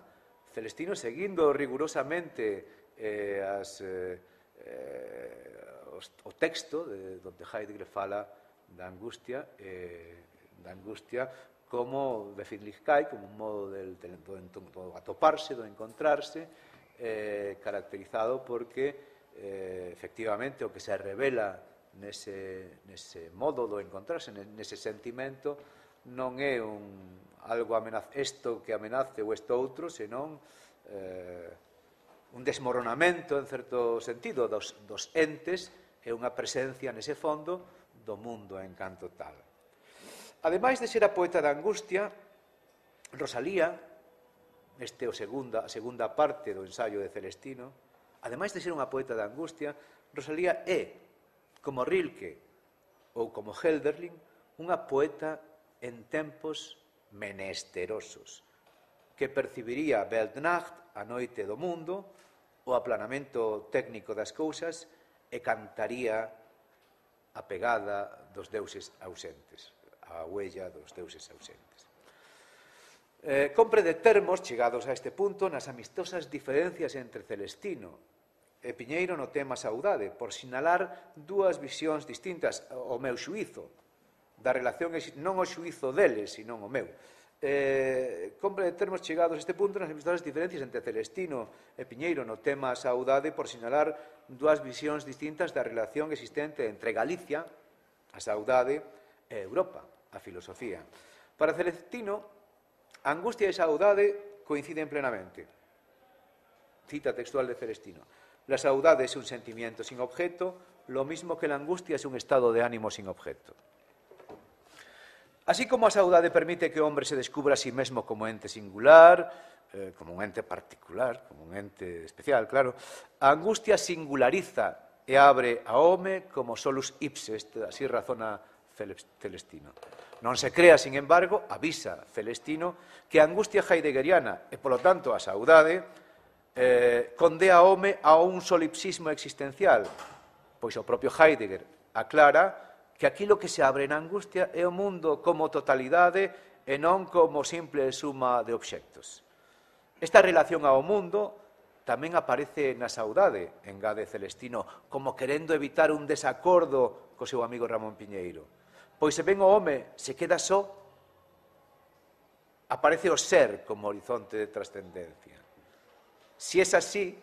Celestino, seguindo rigurosamente eh, as, eh, eh, os, o texto de, donde Heidegger fala da angustia, eh, da angustia como Befindlichkeit, como un modo del, del, do, do atoparse, do encontrarse, eh, caracterizado porque eh, efectivamente o que se revela nese, nese modo do encontrarse, nese sentimento, non é un algo amenaz, isto que amenace ou isto outro, senón eh, un desmoronamento, en certo sentido, dos, dos entes e unha presencia nese fondo do mundo en canto tal. Ademais de ser a poeta da angustia, Rosalía, este é o segunda, a segunda parte do ensaio de Celestino, ademais de ser unha poeta da angustia, Rosalía é, como Rilke ou como Hölderlin, unha poeta en tempos menesterosos, que percibiría Weltnacht, a noite do mundo, o aplanamento técnico das cousas, e cantaría a pegada dos deuses ausentes, a huella dos deuses ausentes. Eh, compre de termos, chegados a este punto, nas amistosas diferencias entre Celestino e Piñeiro no tema saudade, por sinalar dúas visións distintas, o meu xuízo, da relación, non o xuízo deles, sino o meu. Eh, compre de termos chegados a este punto nas amistosas diferencias entre Celestino e Piñeiro no tema saudade, por sinalar dúas visións distintas da relación existente entre Galicia, a saudade, e Europa, a filosofía. Para Celestino, a angustia e a saudade coinciden plenamente. Cita textual de Celestino. La saudade es un sentimiento sin objeto, lo mismo que la angustia es un estado de ánimo sin objeto. Así como a saudade permite que o hombre se descubra a sí mesmo como ente singular, eh, como un ente particular, como un ente especial, claro, a angustia singulariza e abre ao home como solus ipse, así razona Celestino. Non se crea, sin embargo, avisa Celestino, que a angustia heideggeriana e, polo tanto, a saudade eh, condea ao home a un solipsismo existencial, pois o propio Heidegger aclara que aquilo que se abre na angustia é o mundo como totalidade e non como simple suma de obxectos. Esta relación ao mundo tamén aparece na saudade, engade Celestino, como querendo evitar un desacordo co seu amigo Ramón Piñeiro. Pois se ven o home se queda só, aparece o ser como horizonte de trascendencia. Si es así,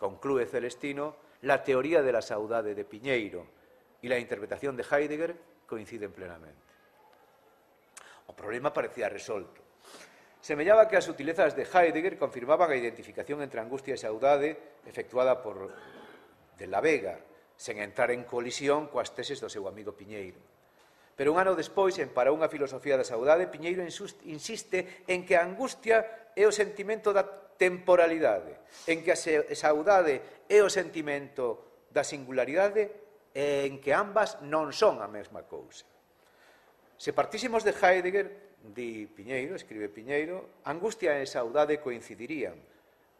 conclúe Celestino, la teoría de la saudade de Piñeiro y la interpretación de Heidegger coinciden plenamente. O problema parecía resolto. Semellaba que as sutilezas de Heidegger confirmaban a identificación entre angustia e saudade efectuada por de la Vega, sen entrar en colisión coas teses do seu amigo Piñeiro. Pero un ano despois, en Para unha filosofía da saudade, Piñeiro insiste en que a angustia é o sentimento da temporalidade, en que a saudade é o sentimento da singularidade e en que ambas non son a mesma cousa. Se partísemos de Heidegger, di Piñeiro, escribe Piñeiro, angustia e saudade coincidirían,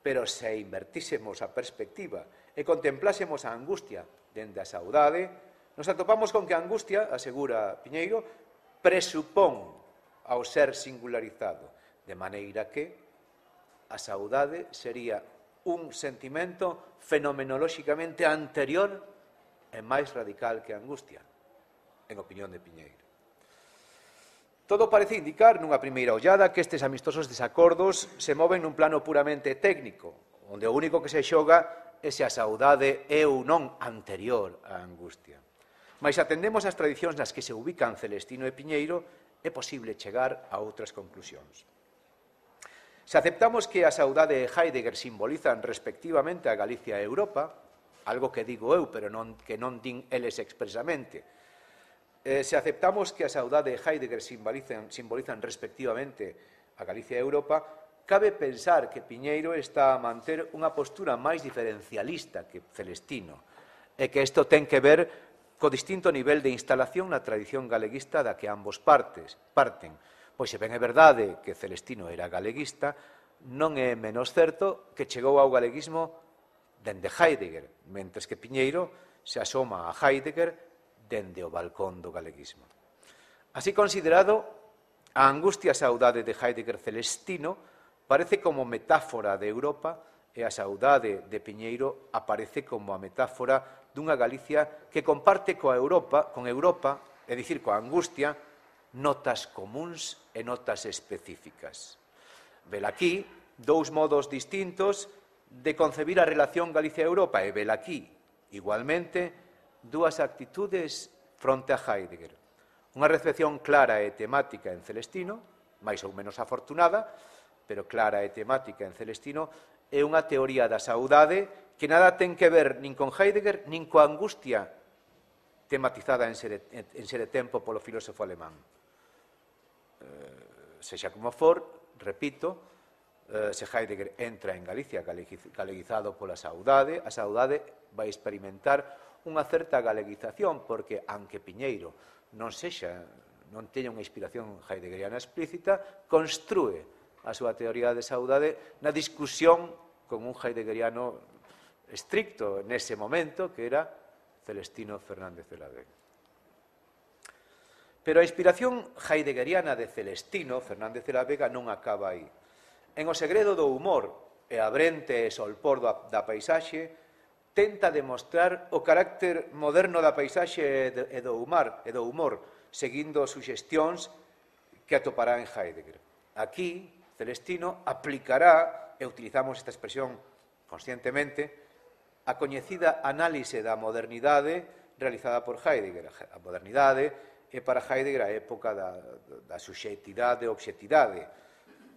pero se invertísemos a perspectiva e contemplásemos a angustia dende a saudade, nos atopamos con que a angustia, asegura Piñeiro, presupón ao ser singularizado, de maneira que a saudade sería un sentimento fenomenolóxicamente anterior e máis radical que a angustia, en opinión de Piñeiro. Todo parece indicar, nunha primeira ollada, que estes amistosos desacordos se moven nun plano puramente técnico, onde o único que se xoga é se a saudade é ou non anterior á angustia. Mais atendemos as tradicións nas que se ubican Celestino e Piñeiro, é posible chegar a outras conclusións. Se aceptamos que a saudade e Heidegger simbolizan respectivamente a Galicia e Europa, algo que digo eu, pero non, que non din eles expresamente, eh, se aceptamos que a saudade e Heidegger simbolizan, simbolizan respectivamente a Galicia e Europa, cabe pensar que Piñeiro está a manter unha postura máis diferencialista que Celestino, e que isto ten que ver co distinto nivel de instalación na tradición galeguista da que ambos partes parten. Pois se ben é verdade que Celestino era galeguista, non é menos certo que chegou ao galeguismo dende Heidegger, mentres que Piñeiro se asoma a Heidegger dende o balcón do galeguismo. Así considerado, a angustia saudade de Heidegger Celestino parece como metáfora de Europa e a saudade de Piñeiro aparece como a metáfora dunha Galicia que comparte coa Europa, con Europa, é dicir, coa angustia, notas comuns e notas específicas. Velaquí, dous modos distintos de concebir a relación Galicia-Europa e velaquí, igualmente, dúas actitudes fronte a Heidegger. Unha recepción clara e temática en Celestino, máis ou menos afortunada, pero clara e temática en Celestino, é unha teoría da saudade que nada ten que ver nin con Heidegger, nin coa angustia tematizada en Ser e Tempo polo filósofo alemán. Eh, sexa como for, repito, eh, se Heidegger entra en Galicia galeguizado pola saudade, a saudade vai experimentar unha certa galeguización, porque, aunque Piñeiro non sexa, non teña unha inspiración heideggeriana explícita, construe a súa teoría de saudade na discusión con un heideggeriano estricto nese momento, que era Celestino Fernández de la Vega. Pero a inspiración heideggeriana de Celestino Fernández de la Vega non acaba aí. En O segredo do humor e a brente e solpor da paisaxe, tenta demostrar o carácter moderno da paisaxe e do humor, e do humor seguindo suxestións que atopará en Heidegger. Aquí, Celestino aplicará, e utilizamos esta expresión conscientemente, a coñecida análise da modernidade realizada por Heidegger. A modernidade é para Heidegger a época da, da suxeitidade e obxectividade.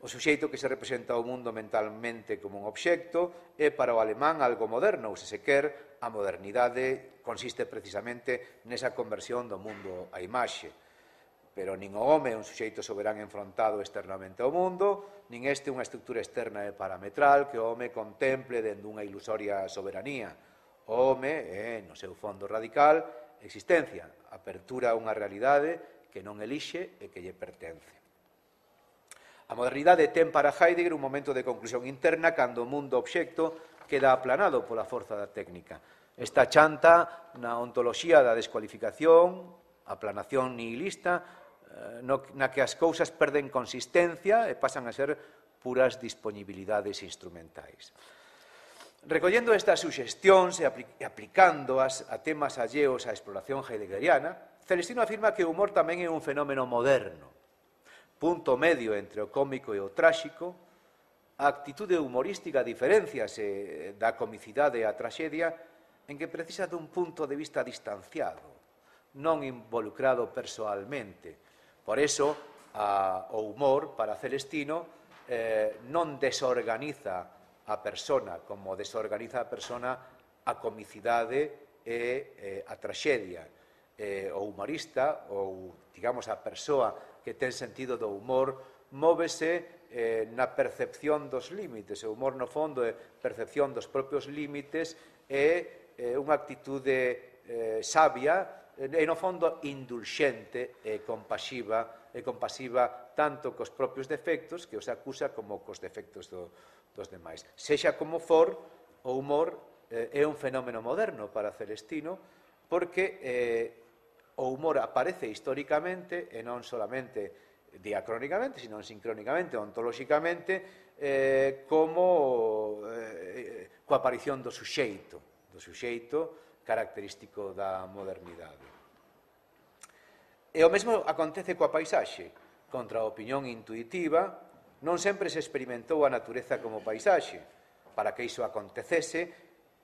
O suxeito que se representa ao mundo mentalmente como un obxecto é para o alemán algo moderno, ou se se quer, a modernidade consiste precisamente nesa conversión do mundo á imaxe. Pero nin o home é un suxeito soberán enfrontado externamente ao mundo, nin este unha estructura externa e parametral que o home contemple dende unha ilusoria soberanía. O home é, no seu fondo radical, existencia, apertura a unha realidade que non elixe e que lle pertence. A modernidade ten para Heidegger un momento de conclusión interna cando o mundo obxecto queda aplanado pola forza da técnica. Esta chanta na ontoloxía da descualificación, aplanación nihilista, na que as cousas perden consistencia e pasan a ser puras disponibilidades instrumentais. Recollendo estas suxestións e aplicándoas a temas alleos á exploración heideggeriana, Celestino afirma que o humor tamén é un fenómeno moderno, punto medio entre o cómico e o tráxico. A actitude humorística diferenciase da comicidade e a traxedia en que precisa dun punto de vista distanciado, non involucrado persoalmente. Por eso, a, o humor, para Celestino, eh, non desorganiza a persona, como desorganiza a persona a comicidade e eh, a traxedia. eh, o humorista, ou, digamos, a persoa que ten sentido do humor, móvese eh, na percepción dos límites. O humor, no fondo, é percepción dos propios límites e eh, unha actitude eh, sabia e, no fondo, indulxente e compasiva, e compasiva tanto cos propios defectos que os acusa como cos defectos do, dos demais. Sexa como for, o humor eh, é un fenómeno moderno para Celestino porque eh, o humor aparece históricamente e non solamente diacrónicamente, sino sincrónicamente, ontolóxicamente, eh, como eh, coa aparición do suxeito, do suxeito característico da modernidade. E o mesmo acontece coa paisaxe. Contra a opinión intuitiva, non sempre se experimentou a natureza como paisaxe. Para que iso acontecese,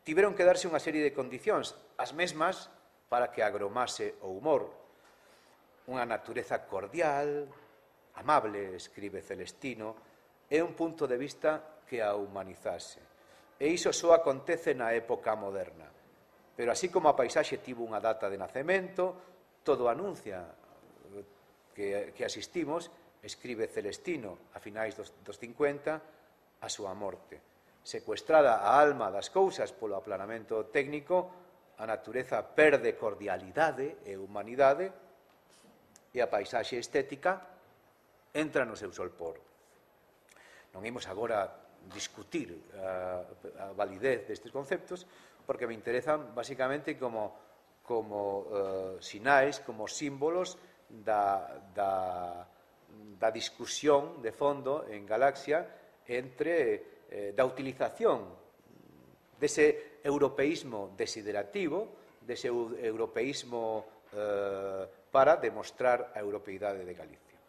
tiveron que darse unha serie de condicións, as mesmas para que agromase o humor. Unha natureza cordial, amable, escribe Celestino, é un punto de vista que a humanizase. E iso só acontece na época moderna. Pero así como a paisaxe tivo unha data de nacemento, todo anuncia que, que asistimos, escribe Celestino a finais dos, dos cincuenta, a súa morte. Secuestrada a alma das cousas polo aplanamento técnico, a natureza perde cordialidade e humanidade e a paisaxe estética entra no seu solpor. Non imos agora discutir a, a validez destes conceptos, porque me interesan basicamente como, como uh, sinais, como símbolos da, da, da discusión de fondo en Galaxia entre eh, da utilización dese europeísmo desiderativo, dese europeísmo eh, para demostrar a europeidade de Galicia.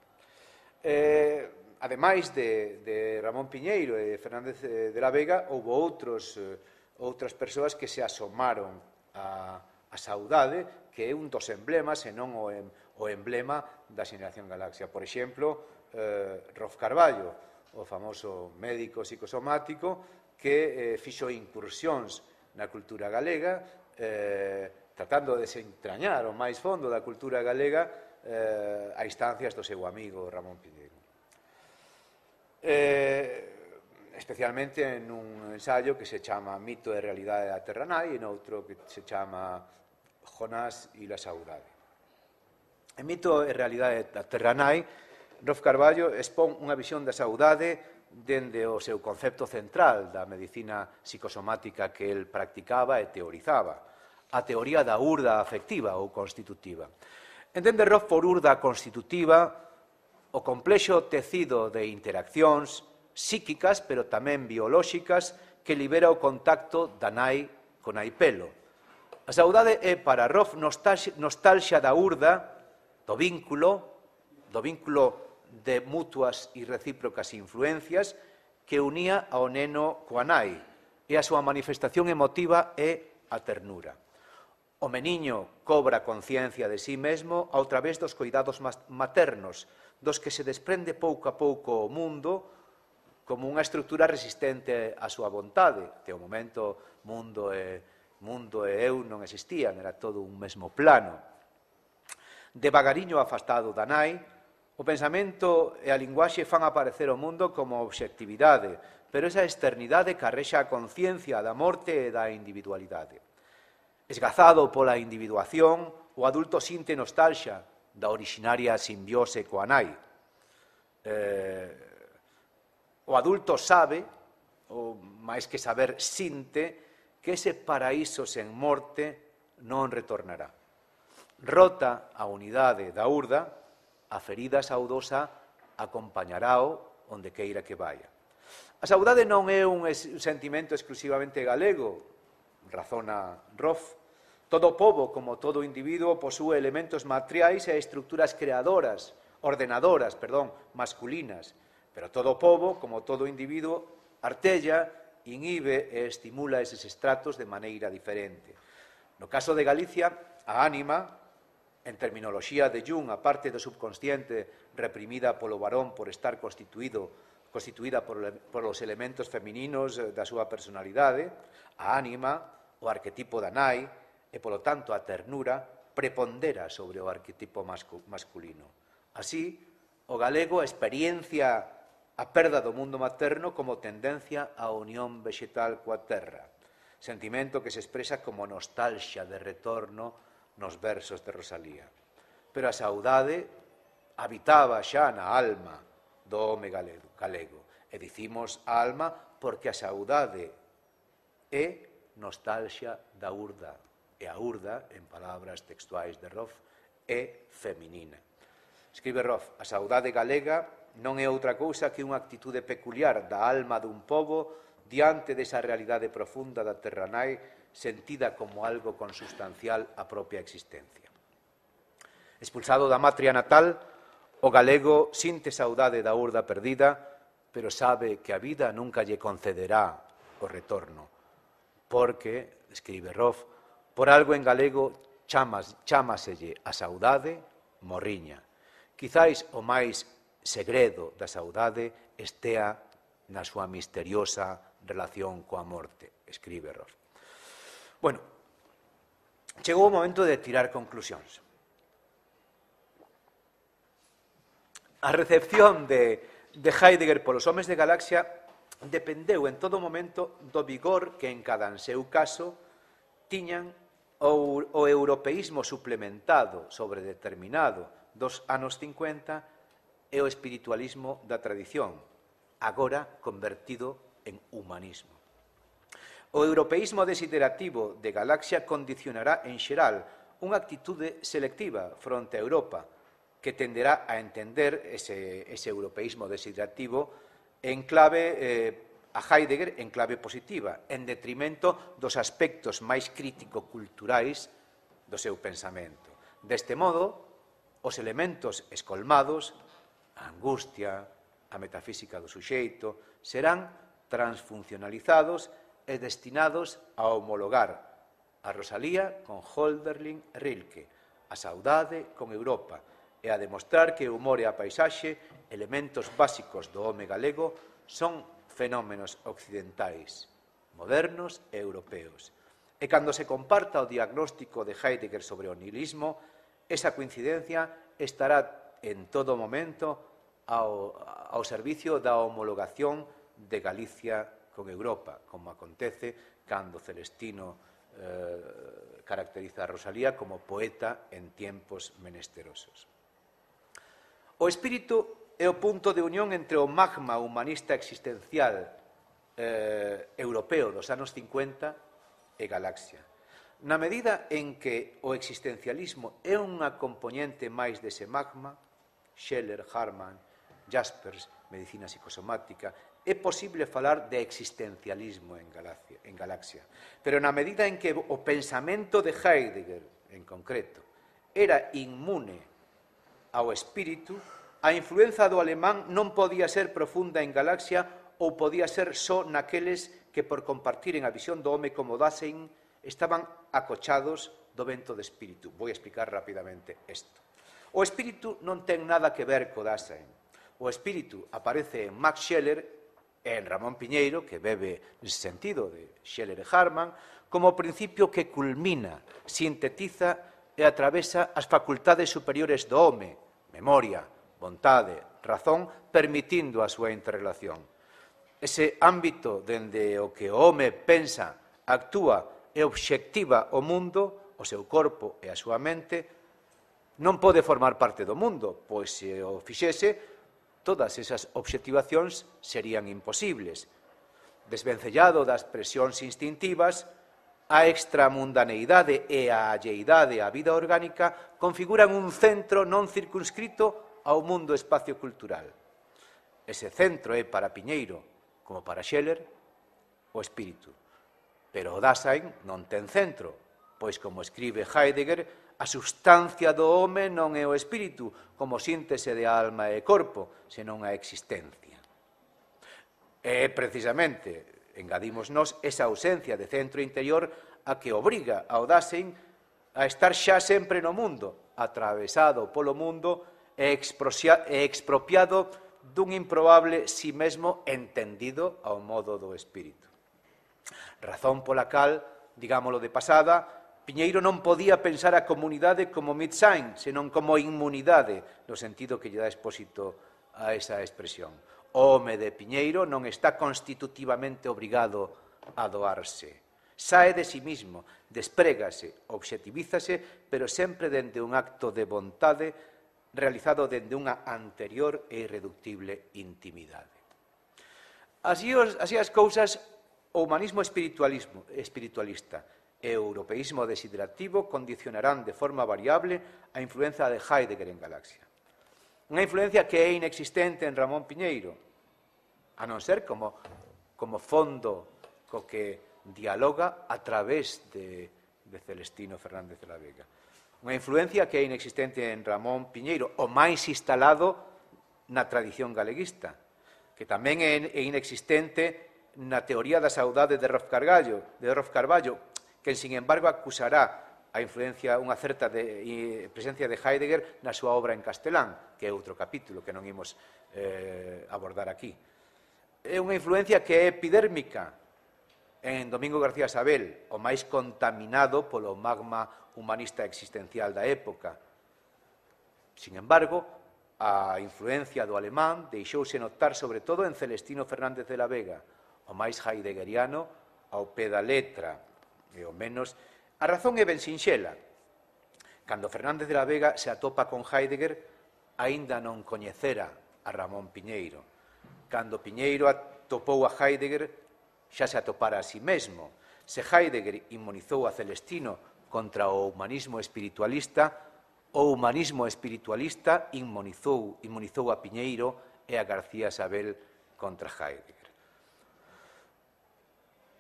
Eh, ademais de, de Ramón Piñeiro e Fernández de la Vega, houve outros, eh, outras persoas que se asomaron a, a saudade, que é un dos emblemas, e non o, em, o emblema da xeneración Galaxia. Por exemplo, eh, Rolf Carballo, o famoso médico psicosomático, que eh, fixo incursións na cultura galega, eh, tratando de desentrañar o máis fondo da cultura galega eh, a instancias do seu amigo Ramón Piñeiro. Eh, especialmente en un ensayo que se chama Mito e Realidade da Terra Nai e noutro que se chama Jonás e la Saudade. En Mito e Realidade da Terra Nai, Rolf Carballo expón unha visión da saudade dende o seu concepto central da medicina psicosomática que el practicaba e teorizaba, a teoría da urda afectiva ou constitutiva. Entende Rolf por urda constitutiva o complexo tecido de interaccións psíquicas, pero tamén biolóxicas, que libera o contacto da nai con naipelo. A saudade é para Rolf nostalgia da urda, do vínculo, do vínculo de mutuas e recíprocas influencias que unía ao neno coa nai, e a súa manifestación emotiva é a ternura. O meniño cobra conciencia de sí mesmo ao través dos coidados maternos, dos que se desprende pouco a pouco o mundo como unha estrutura resistente á súa vontade. Que ao momento mundo e, mundo e eu non existían, era todo un mesmo plano. Devagariño afastado da nai, o pensamento e a linguaxe fan aparecer o mundo como obxectividade, pero esa externidade carrexa a conciencia da morte e da individualidade. Esgazado pola individuación, o adulto sinte nostalgia da orixinaria simbiose coa nai. Eh, o adulto sabe, ou máis que saber, sinte que ese paraíso sen morte non retornará. Rota a unidade da urda, a ferida saudosa acompañarao onde queira que vaya. A saudade non é un sentimento exclusivamente galego, razona Rolf. Todo pobo, como todo individuo, posúe elementos materiais e estructuras creadoras, ordenadoras, perdón, masculinas. Pero todo pobo, como todo individuo, artella, inhibe e estimula eses estratos de maneira diferente. No caso de Galicia, a ánima, en terminoloxía de Jung, a parte do subconsciente reprimida polo varón por estar constituído, constituída por, por os elementos femininos da súa personalidade, a ánima, o arquetipo da nai, e, polo tanto, a ternura, prepondera sobre o arquetipo masculino. Así, o galego experiencia a perda do mundo materno como tendencia á unión vegetal coa terra, sentimento que se expresa como nostalgia de retorno nos versos de Rosalía. Pero a saudade habitaba xa na alma do home galego. E dicimos alma porque a saudade é nostalgia da urda. E a urda, en palabras textuais de Roff, é feminina. Escribe Roff, a saudade galega non é outra cousa que unha actitude peculiar da alma dun pobo diante desa realidade profunda da terra nai, sentida como algo consustancial á propia existencia. Expulsado da matria natal, o galego sinte saudade da urda perdida, pero sabe que a vida nunca lle concederá o retorno, porque, escribe Roff, por algo en galego chamas, chámaselle a saudade morriña. Quizáis o máis segredo da saudade estea na súa misteriosa relación coa morte, escribe Roff. Bueno, chegou o momento de tirar conclusións. A recepción de, de Heidegger polos homes de Galaxia dependeu en todo momento do vigor que en cada seu caso tiñan o, o europeísmo suplementado sobre determinado dos anos cincuenta e o espiritualismo da tradición, agora convertido en humanismo. O europeísmo desiderativo de Galaxia condicionará en xeral unha actitude selectiva fronte a Europa que tenderá a entender ese, ese europeísmo desiderativo en clave eh, a Heidegger en clave positiva, en detrimento dos aspectos máis crítico-culturais do seu pensamento. Deste modo, os elementos escolmados, a angustia, a metafísica do suxeito, serán transfuncionalizados e destinados a homologar a Rosalía con Hölderlin e Rilke, a saudade con Europa, e a demostrar que o humor e a paisaxe, elementos básicos do home galego, son fenómenos occidentais, modernos e europeos. E cando se comparta o diagnóstico de Heidegger sobre o nihilismo, esa coincidencia estará en todo momento ao, ao servicio da homologación de Galicia con Europa, como acontece cando Celestino eh, caracteriza a Rosalía como poeta en tiempos menesterosos. O espírito é o punto de unión entre o magma humanista existencial eh, europeo dos anos cincuenta e Galaxia. Na medida en que o existencialismo é unha componente máis dese magma, Scheller, Harman, Jaspers, medicina psicosomática, é posible falar de existencialismo en Galaxia, en Galaxia. Pero na medida en que o pensamento de Heidegger, en concreto, era inmune ao espírito, a influenza do alemán non podía ser profunda en Galaxia ou podía ser só naqueles que, por compartiren a visión do home como Dasein, estaban acochados do vento de espírito. Vou explicar rapidamente isto. O espírito non ten nada que ver co Dasein. O espírito aparece en Max Scheler e en Ramón Piñeiro, que bebe nese sentido de Scheler e Harman, como principio que culmina, sintetiza e atravesa as facultades superiores do home, memoria, vontade, razón, permitindo a súa interrelación. Ese ámbito dende o que o home pensa, actúa e obxectiva o mundo, o seu corpo e a súa mente, non pode formar parte do mundo, pois se o fixese, todas esas obxectivacións serían imposibles. Desvencellado das presións instintivas, a extramundaneidade e a alleidade á vida orgánica configuran un centro non circunscrito ao mundo espacio cultural. Ese centro é para Piñeiro, como para Scheler, o espírito. Pero o Dasein non ten centro, pois, como escribe Heidegger, a substancia do home non é o espírito, como síntese de alma e corpo, senón a existencia. E, precisamente, engadimos nós esa ausencia de centro interior a que obriga ao Dasein a estar xa sempre no mundo, atravesado polo mundo e expropiado dun improbable si mesmo entendido ao modo do espírito. Razón pola cal, digámoslo de pasada, Piñeiro non podía pensar a comunidade como Mitsain, senón como inmunidade, no sentido que lle dá expósito a esa expresión. O home de Piñeiro non está constitutivamente obrigado a doarse. Sae de sí mismo, desprégase, objetivízase, pero sempre dende un acto de vontade realizado dende unha anterior e irreductible intimidade. Así, os, así as cousas, o humanismo espiritualismo, espiritualista e o europeísmo desiderativo condicionarán de forma variable a influencia de Heidegger en Galaxia. Unha influencia que é inexistente en Ramón Piñeiro, a non ser como, como fondo co que dialoga a través de, de Celestino Fernández de la Vega. Unha influencia que é inexistente en Ramón Piñeiro, o máis instalado na tradición galeguista, que tamén é inexistente na teoría da saudade de Rolf Carballo, de Rolf Carballo, que, sin embargo, acusará a influencia, unha certa de, presencia de Heidegger na súa obra en castelán, que é outro capítulo que non imos eh, abordar aquí. É unha influencia que é epidérmica en Domingo García Sabel, o máis contaminado polo magma humanista existencial da época. Sin embargo, a influencia do alemán deixouse notar sobre todo en Celestino Fernández de la Vega, o máis heideggeriano ao pé da letra, e ao menos, a razón é ben sinxela. Cando Fernández de la Vega se atopa con Heidegger, aínda non coñecera a Ramón Piñeiro. Cando Piñeiro atopou a Heidegger, xa se atopara a si mesmo. Se Heidegger inmunizou a Celestino contra o humanismo espiritualista, o humanismo espiritualista inmunizou, inmunizou a Piñeiro e a García Sabel contra Heidegger.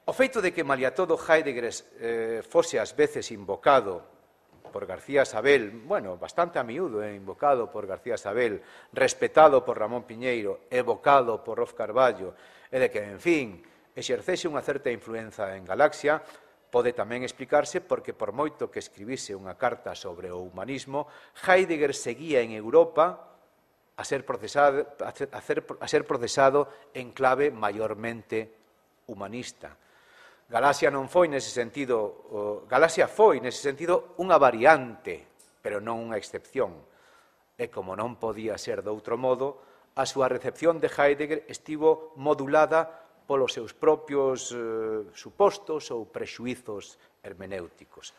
O feito de que, malia todo, Heidegger eh, fose ás veces invocado por García Sabel, bueno, bastante a miúdo, eh, invocado por García Sabel, respetado por Ramón Piñeiro, evocado por Rolf Carballo, e de que, en fin, exercese unha certa influenza en Galaxia, pode tamén explicarse porque, por moito que escribise unha carta sobre o humanismo, Heidegger seguía en Europa a ser procesado, a ser, a ser procesado en clave maiormente humanista. Galaxia non foi nese sentido, Galaxia foi nese sentido unha variante, pero non unha excepción. E como non podía ser de outro modo, a súa recepción de Heidegger estivo modulada polos seus propios eh, supostos ou prexuizos hermenéuticos.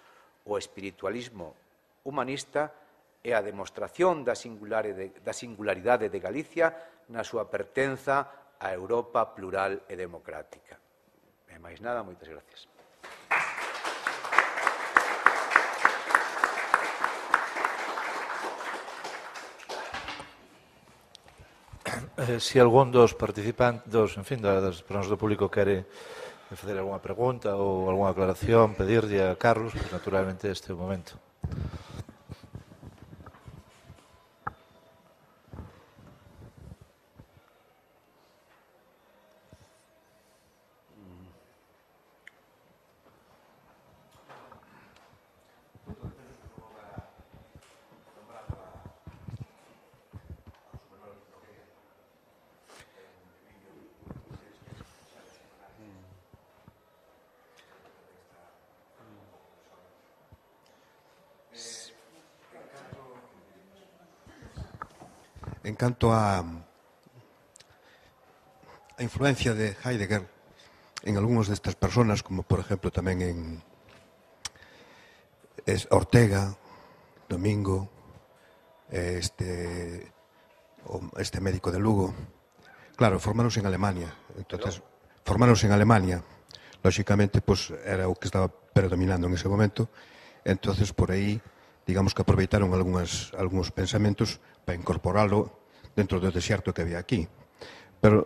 O espiritualismo humanista é a demostración da singularidade de Galicia na súa pertenza á Europa plural e democrática. E máis nada, moitas gracias. Eh, se algún dos participantes, dos, en fin, das persoas do público quere facer algunha pregunta ou algunha aclaración, pedirlle a Carlos, pues, naturalmente este é o momento. En canto a, a influencia de Heidegger en algúns destas personas, como por exemplo tamén en Ortega, Domingo, este, este médico de Lugo, claro, formáronse en Alemania. Entonces, formáronse en Alemania. Lóxicamente, pues, era o que estaba predominando en ese momento. Entonces, por aí, digamos que aproveitaron algúns, algúns pensamentos para incorporalo dentro do desierto que había aquí. Pero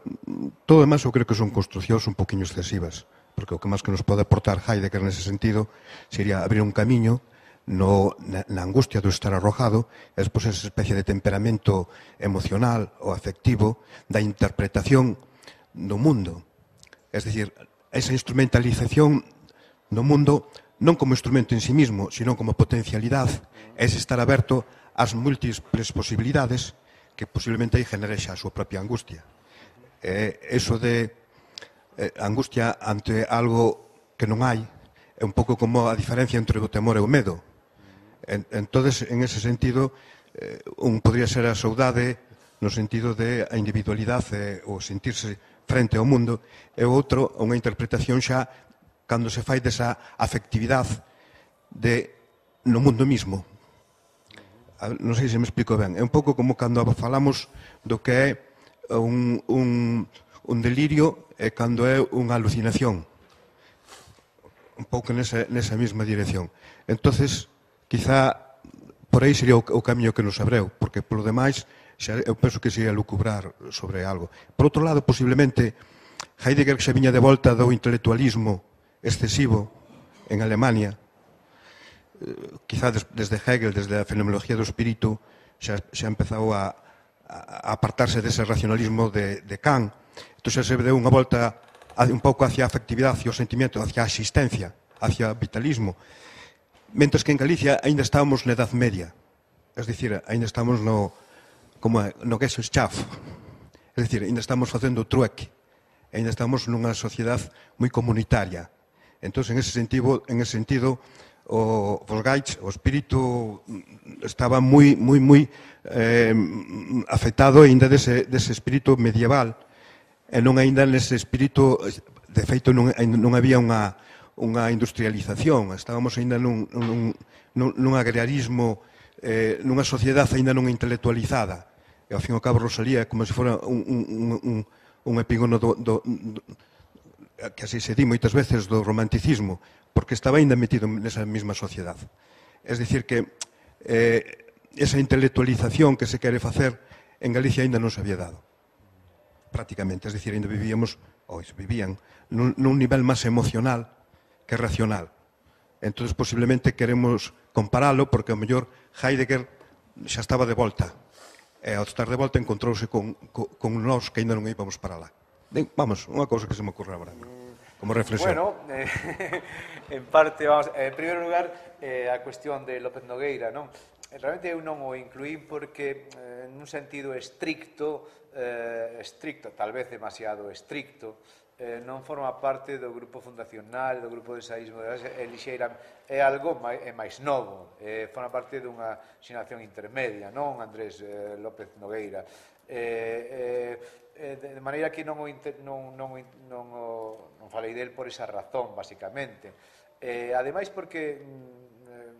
todo demais eu creo que son construcións un poquinho excesivas, porque o que máis que nos pode aportar Heidegger nese sentido sería abrir un camiño no, na, na angustia do estar arrojado, e despois esa especie de temperamento emocional ou afectivo da interpretación do mundo. Es decir, esa instrumentalización do mundo non como instrumento en sí mismo, sino como potencialidade, es estar aberto as múltiples posibilidades que posiblemente aí genere xa a súa propia angustia. Eh, eso de eh, angustia ante algo que non hai, é un pouco como a diferencia entre o temor e o medo. Entonces, en ese sentido, un podría ser a saudade no sentido de a individualidade o sentirse frente ao mundo, e o outro, unha interpretación xa cando se fai desa afectividade de no mundo mismo. Non sei se me explico ben. É un pouco como cando falamos do que é un, un, un delirio e cando é unha alucinación. Un pouco nesa, nesa mesma dirección. Entonces, quizá por aí sería o, o camiño que nos abreu, porque polo demais xa, eu penso que sería lucubrar sobre algo. Por outro lado, posiblemente, Heidegger xa viña de volta do intelectualismo excesivo en Alemania, quizá desde Hegel, desde a fenomenología do espírito, xa, xa empezou a, a apartarse dese racionalismo de, de Kant. Entón xa se deu unha volta un pouco hacia a afectividade, hacia o sentimento, hacia a existencia, hacia o vitalismo. Mentres que en Galicia ainda estábamos na Edad Media, es dicir, ainda estamos no, como no Gesellschaft, es dicir, ainda estamos facendo trueque, ainda estamos nunha sociedade moi comunitaria. Entón, en ese sentido, en ese sentido o Volksgeist, o espírito estaba moi, moi, moi eh, afectado ainda dese, dese espírito medieval, e non ainda nese espírito, de feito non, non había unha, unha industrialización, estábamos ainda nun, nun, nun, nun agrarismo, eh, nunha sociedade ainda non intelectualizada, e ao fin e ao cabo Rosalía é como se fora un, un, un, un epígono do, do, do, que así se di moitas veces do romanticismo, porque estaba ainda metido nesa mesma sociedade. Es dicir que eh, esa intelectualización que se quere facer en Galicia ainda non se había dado, prácticamente. Es dicir, ainda vivíamos, ou vivían, nun, nun nivel máis emocional que racional. Entón, posiblemente queremos comparalo porque, ao mellor, Heidegger xa estaba de volta. E ao estar de volta encontrouse con, con, con nós que ainda non íbamos para lá. Vamos, unha cousa que se me ocorre agora, como reflexión. Bueno, eh, en parte, vamos, en primeiro lugar, eh, a cuestión de López Nogueira, non? Realmente eu non o incluín porque, eh, nun sentido estricto, eh, estricto, tal vez demasiado estricto, eh, non forma parte do grupo fundacional, do grupo de ensaísmo de Elixeira, é algo máis, é máis novo, eh, forma parte dunha xeración intermedia, non, Andrés eh, López Nogueira. Eh, eh, de maneira que non, o inter, non, non, non, o, non falei del por esa razón, basicamente. Eh, ademais, porque eh,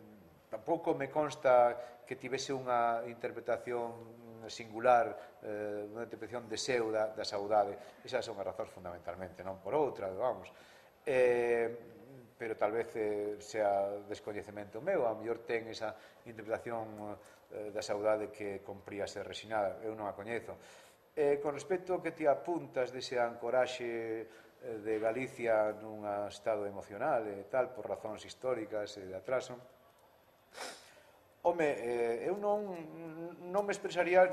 tampouco me consta que tivese unha interpretación singular, eh, unha interpretación de seu da, da saudade. Esas son as razóns fundamentalmente, non por outra, vamos. Eh, pero tal vez eh, sea descoñecemento meu, a mellor ten esa interpretación eh, da saudade que compría ser resinada, eu non a coñezo. Eh, con respecto ao que ti apuntas dese ancoraxe eh, de Galicia nun estado emocional e tal, por razóns históricas e de atraso, home, eh, eu non, non me expresaría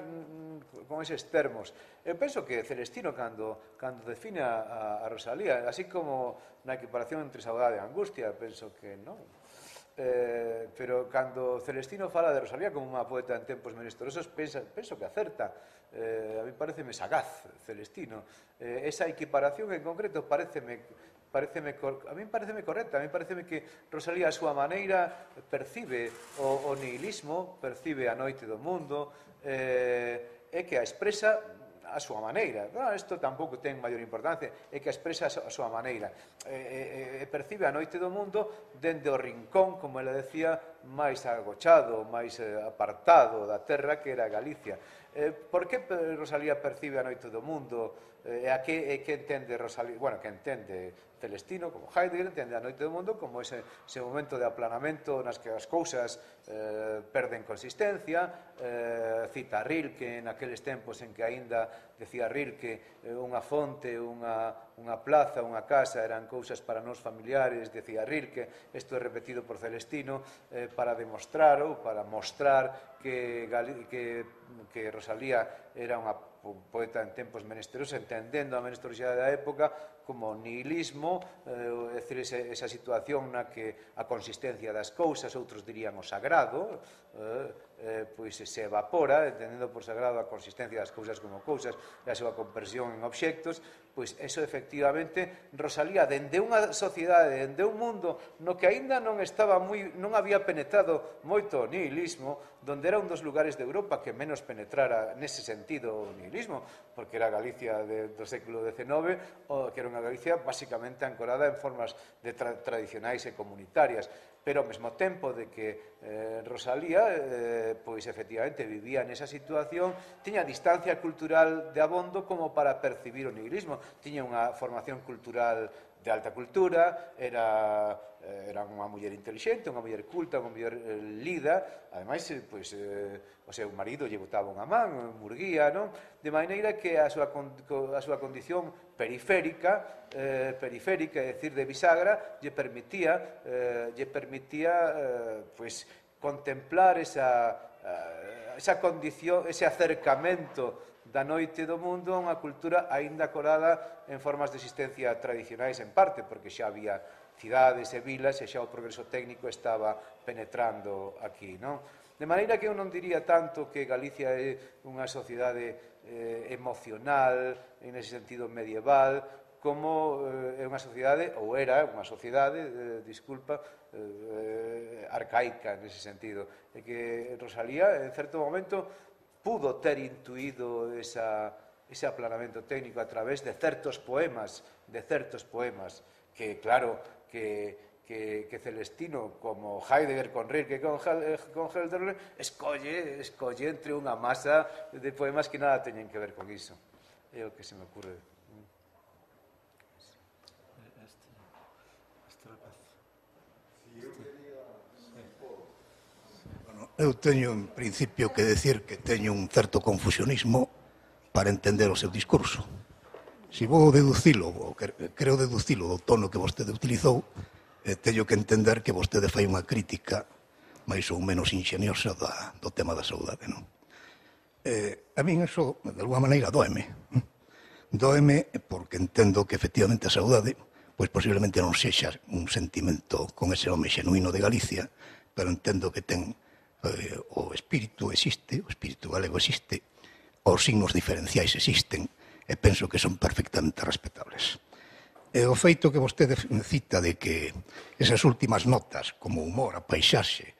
con eses termos. Eu penso que Celestino, cando, cando define a, a Rosalía, así como na equiparación entre saudade e angustia, penso que non. Eh, pero cando Celestino fala de Rosalía como unha poeta en tempos menesterosos, pensa, penso que acerta. Eh, a mí pareceme sagaz Celestino. Eh, esa equiparación en concreto pareceme, pareceme, a mí pareceme correcta. A mí pareceme que Rosalía a súa maneira percibe o, o nihilismo, percibe a noite do mundo, eh, e que a expresa a súa maneira. Bueno, isto tampouco ten maior importancia, é que expresa a súa maneira. E, e, e percibe a noite do mundo dende o rincón, como ela decía, máis agochado, máis apartado da terra que era Galicia. Eh, por que Rosalía percibe a noite do mundo? E a que, e que entende Rosalía? Bueno, que entende Celestino, como Heidegger, entende a noite do mundo como ese, ese momento de aplanamento nas que as cousas eh, perden consistencia. Eh, cita a Rilke naqueles tempos en que aínda decía Rilke eh, unha fonte, unha, unha plaza, unha casa eran cousas para nós familiares, decía Rilke. Isto é repetido por Celestino eh, para demostrar ou para mostrar que, que, que Rosalía era unha poeta en tempos menesterosos, entendendo a menesterosidade da época como nihilismo, é dicir, esa situación na que a consistencia das cousas, outros dirían o sagrado, pois se evapora, entendendo por sagrado a consistencia das cousas como cousas e a súa conversión en obxectos, pois eso efectivamente Rosalía, dende unha sociedade, dende un mundo no que aínda non estaba moi, non había penetrado moito o nihilismo, donde era un dos lugares de Europa que menos penetrara nese sentido o nihilismo, porque era Galicia de, do século decenove, que era unha Galicia basicamente ancorada en formas de tra tradicionais e comunitarias, pero ao mesmo tempo de que eh, Rosalía eh, pois efectivamente vivía nesa situación, tiña distancia cultural de abondo como para percibir o nihilismo, tiña unha formación cultural de alta cultura, era, era unha muller intelixente, unha muller culta, unha muller eh, lida, ademais, pois, eh, o seu marido lle botaba unha man, murguía, non? De maneira que a súa, a súa condición periférica, eh, periférica, é dicir, de bisagra, lle permitía, eh, lle permitía eh, pois, contemplar esa, eh, esa condición, ese acercamento da noite do mundo a unha cultura aínda colada en formas de existencia tradicionais en parte, porque xa había cidades e vilas e xa o progreso técnico estaba penetrando aquí, non? De maneira que eu non diría tanto que Galicia é unha sociedade eh, emocional, en ese sentido medieval, como eh, é unha sociedade, ou era unha sociedade, eh, disculpa, eh, arcaica nese sentido. E que Rosalía, en certo momento, pudo ter intuído esa, ese aplanamento técnico a través de certos poemas, de certos poemas, que claro, que, que, que Celestino, como Heidegger con Rilke, con, con Hölderlin, escolle, escolle entre unha masa de poemas que nada teñen que ver con iso. É o que se me ocurre. Este, este rapaz. Eu teño, en principio, que decir que teño un certo confusionismo para entender o seu discurso. Se vou deducilo, ou creo deducilo do tono que vostede utilizou, eh, teño que entender que vostede fai unha crítica máis ou menos ingeniosa da, do tema da saudade, non? Eh, a min eso, de alguma maneira, doeme. Doeme porque entendo que, efectivamente, a saudade, pois posiblemente non sexa un sentimento con ese home xenuíno de Galicia, pero entendo que ten eh, o espírito existe, o espírito galego existe, os signos diferenciais existen, e penso que son perfectamente respetables. E o feito que vostede cita de que esas últimas notas, como humor, a paisaxe,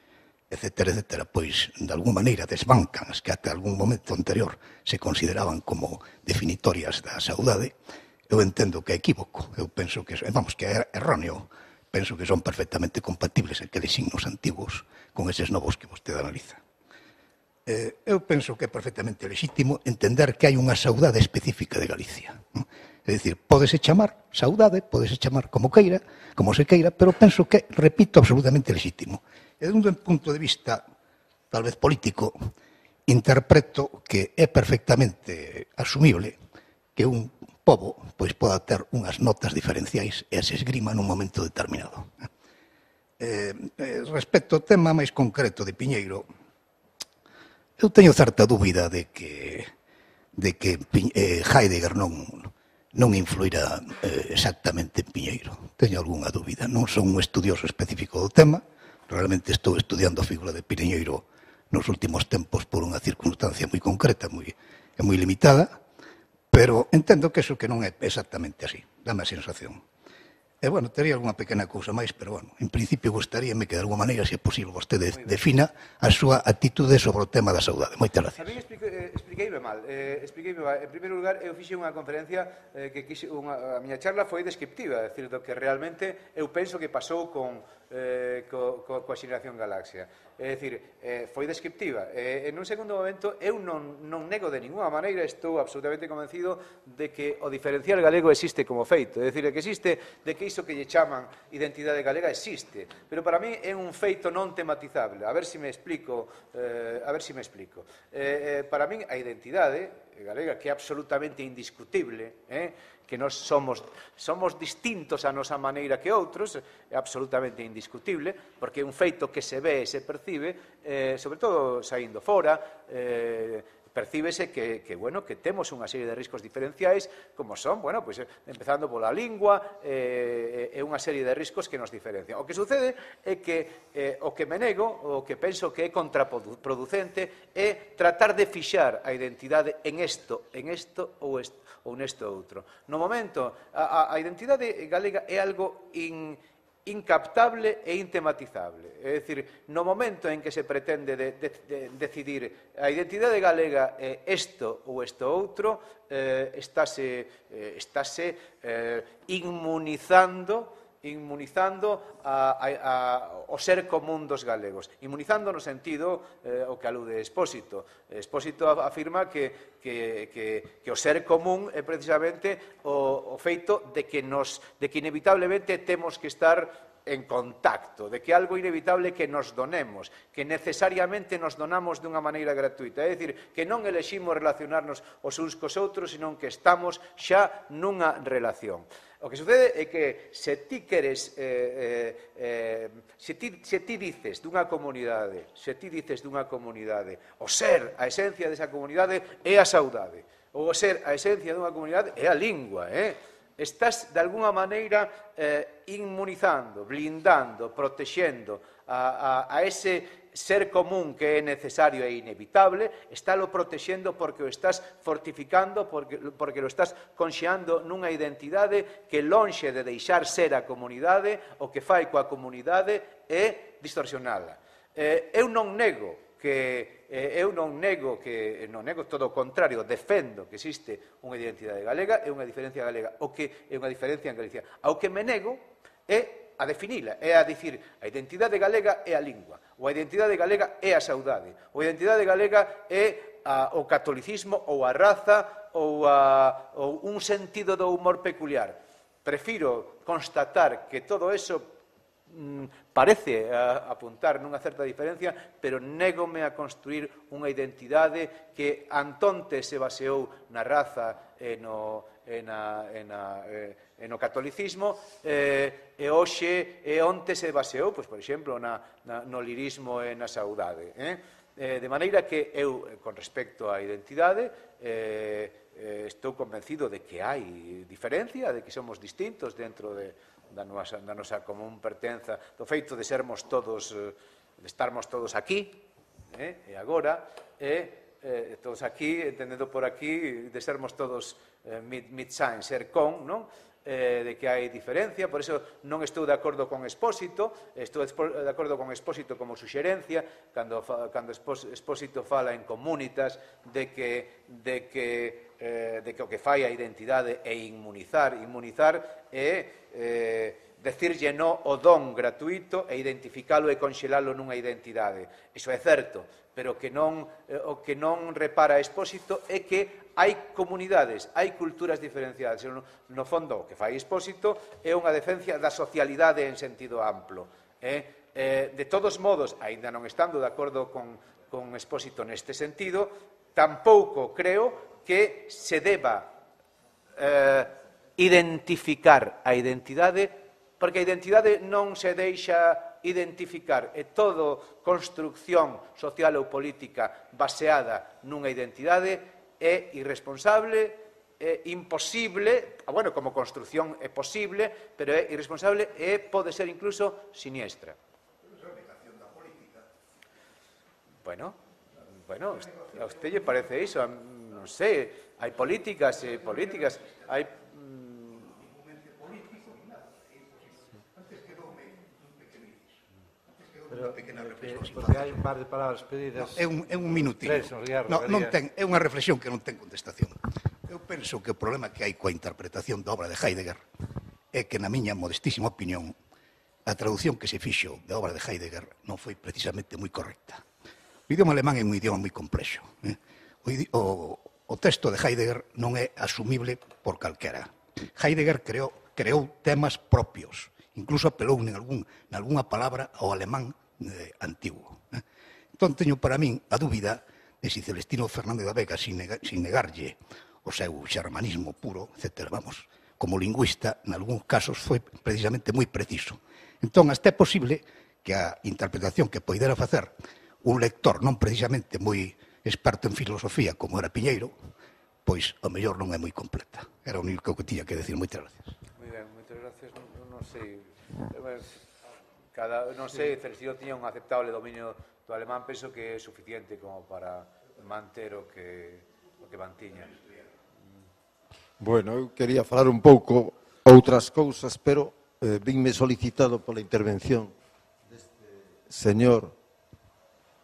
etcétera, etcétera, pois, de alguma maneira desbancan as que até algún momento anterior se consideraban como definitorias da saudade, eu entendo que é equívoco, eu penso que, vamos, que é erróneo, penso que son perfectamente compatibles aqueles signos antigos con eses novos que vostede analiza. Eh, eu penso que é perfectamente legítimo entender que hai unha saudade específica de Galicia. É dicir, pódese chamar saudade, pódese chamar como queira, como se queira, pero penso que, repito, absolutamente legítimo. E dun punto de vista, tal vez político, interpreto que é perfectamente asumible que un pobo pois poda ter unhas notas diferenciais e se esgrima nun momento determinado. Eh, eh, respecto ao tema máis concreto de Piñeiro, eu teño certa dúbida de que, de que eh, Heidegger non, non influirá eh, exactamente en Piñeiro. Teño algunha dúbida. Non son un estudioso específico do tema. Realmente estou estudiando a figura de Piñeiro nos últimos tempos por unha circunstancia moi concreta, moi, e moi limitada, pero entendo que eso que non é exactamente así. Dame a sensación. E, bueno, tería algunha pequena cousa máis, pero, bueno, en principio gostaríame que, de alguma maneira, se é posible, vostede defina a súa actitude sobre o tema da saudade. Moitas gracias. A mí expliqueime mal. Eh, expliqueime mal. En primeiro lugar, eu fixe unha conferencia eh, que quixe, unha, a miña charla foi descriptiva, é dicir, do que realmente eu penso que pasou con, eh, co, co, coa xeración Galaxia. É dicir, eh, foi descriptiva. Eh, en un segundo momento, eu non, non nego de ninguna maneira, estou absolutamente convencido de que o diferencial galego existe como feito. É dicir, que existe, de que iso que lle chaman identidade galega existe. Pero para mí é un feito non tematizable. A ver se me explico. Eh, a ver se me explico. Eh, eh, para min, a identidade galega, que é absolutamente indiscutible, eh? que nós somos, somos distintos a nosa maneira que outros, é absolutamente indiscutible, porque é un feito que se ve e se percibe, eh, sobre todo saindo fora, eh, percíbese que, que, bueno, que temos unha serie de riscos diferenciais, como son, bueno, pues, empezando pola lingua, eh, é unha serie de riscos que nos diferencian. O que sucede é que eh, o que me nego, o que penso que é contraproducente, é tratar de fixar a identidade en isto, en isto ou, est, ou nesto outro. No momento, a, a identidade galega é algo in, incaptable e intematizable. É dicir, no momento en que se pretende de, de, de decidir a identidade galega é isto ou isto outro, eh, estáse, eh, estáse eh, inmunizando inmunizando a, a, a, o ser común dos galegos. Inmunizando no sentido eh, o que alude Expósito. Expósito afirma que, que, que, que o ser común é precisamente o, o feito de que, nos, de que inevitablemente temos que estar en contacto, de que algo inevitable que nos donemos, que necesariamente nos donamos dunha maneira gratuita. É dicir, que non eleximos relacionarnos os uns cos outros, senón que estamos xa nunha relación. O que sucede é que se ti queres, eh, eh, se, ti, se ti dices dunha comunidade, se ti dices dunha comunidade, o ser, a esencia desa comunidade é a saudade, ou o ser, a esencia dunha comunidade é a lingua, eh? Estás, de alguna maneira, eh, inmunizando, blindando, protexendo a, a, a ese ser común que é necesario e inevitable, estálo protexendo porque o estás fortificando, porque, porque lo estás conxeando nunha identidade que lonxe de deixar ser a comunidade, o que fai coa comunidade é distorsionala. Eh, eu non nego que eh, eu non nego que non nego todo o contrario, defendo que existe unha identidade galega e unha diferencia galega, o que é unha diferencia en Galicia. Ao que me nego é a definila, é a dicir a identidade galega é a lingua, ou a identidade galega é a saudade, ou a identidade galega é a, o catolicismo ou a raza ou, a, ou un sentido do humor peculiar. Prefiro constatar que todo eso parece apuntar nunha certa diferencia, pero négome a construir unha identidade que antonte se baseou na raza e no, e na, e na, e no catolicismo e, e hoxe e onte se baseou, pois, por exemplo, na, na, no lirismo e na saudade. Eh? Eh, de maneira que eu, con respecto á identidade, eh, eh, estou convencido de que hai diferencia, de que somos distintos dentro de da nosa, da nosa común pertenza, do feito de sermos todos, de estarmos todos aquí, eh, e agora, e eh, todos aquí, entendendo por aquí, de sermos todos eh, mid-sign, ser con, non? Eh, de que hai diferencia, por iso non estou de acordo con Expósito, estou de acordo con Expósito como suxerencia, cando, cando Expósito fala en comunitas, de que, de que Eh, de que o que fai a identidade é inmunizar. Inmunizar é eh, decirlle no o don gratuito e identificalo e conxelalo nunha identidade. Iso é certo, pero que non, eh, o que non repara Expósito é que hai comunidades, hai culturas diferenciadas. No, no fondo, o que fai Expósito é unha defensa da socialidade en sentido amplo. Eh? Eh, de todos modos, aínda non estando de acordo con, con Expósito neste sentido, tampouco creo que se deba eh, identificar a identidade, porque a identidade non se deixa identificar, é todo construcción social ou política baseada nunha identidade, é irresponsable, é imposible, bueno, como construcción é posible, pero é irresponsable e pode ser incluso siniestra. Bueno, bueno, a usted lle parece iso, non sei, hai políticas e políticas, hai... Pero, porque hai un par de palabras pedidas... No, é, un, é un minutinho. No, non ten, é unha reflexión que non ten contestación. Eu penso que o problema que hai coa interpretación da obra de Heidegger é que, na miña modestísima opinión, a traducción que se fixo da obra de Heidegger non foi precisamente moi correcta. O idioma alemán é un idioma moi complexo. Eh? O, o, o texto de Heidegger non é asumible por calquera. Heidegger creou, creou temas propios, incluso apelou en, algún, en algunha palabra ao alemán eh, antigo. Eh? Entón, teño para min a dúbida e se Celestino Fernández da Vega, sin, nega, sin negarlle o seu xermanismo puro, etcétera, vamos, como lingüista, en algúns casos foi precisamente moi preciso. Entón, hasta é posible que a interpretación que poidera facer un lector non precisamente moi experto en filosofía como era Piñeiro, pois ao mellor non é moi completa. Era o único que tiña que decir. Moitas gracias. Moi ben, moitas gracias. Non, non sei, cada, non sei, Celestino tiña un aceptable dominio do alemán, penso que é suficiente como para manter o que, o que mantiña. Bueno, eu quería falar un pouco outras cousas, pero eh, vinme solicitado pola intervención deste señor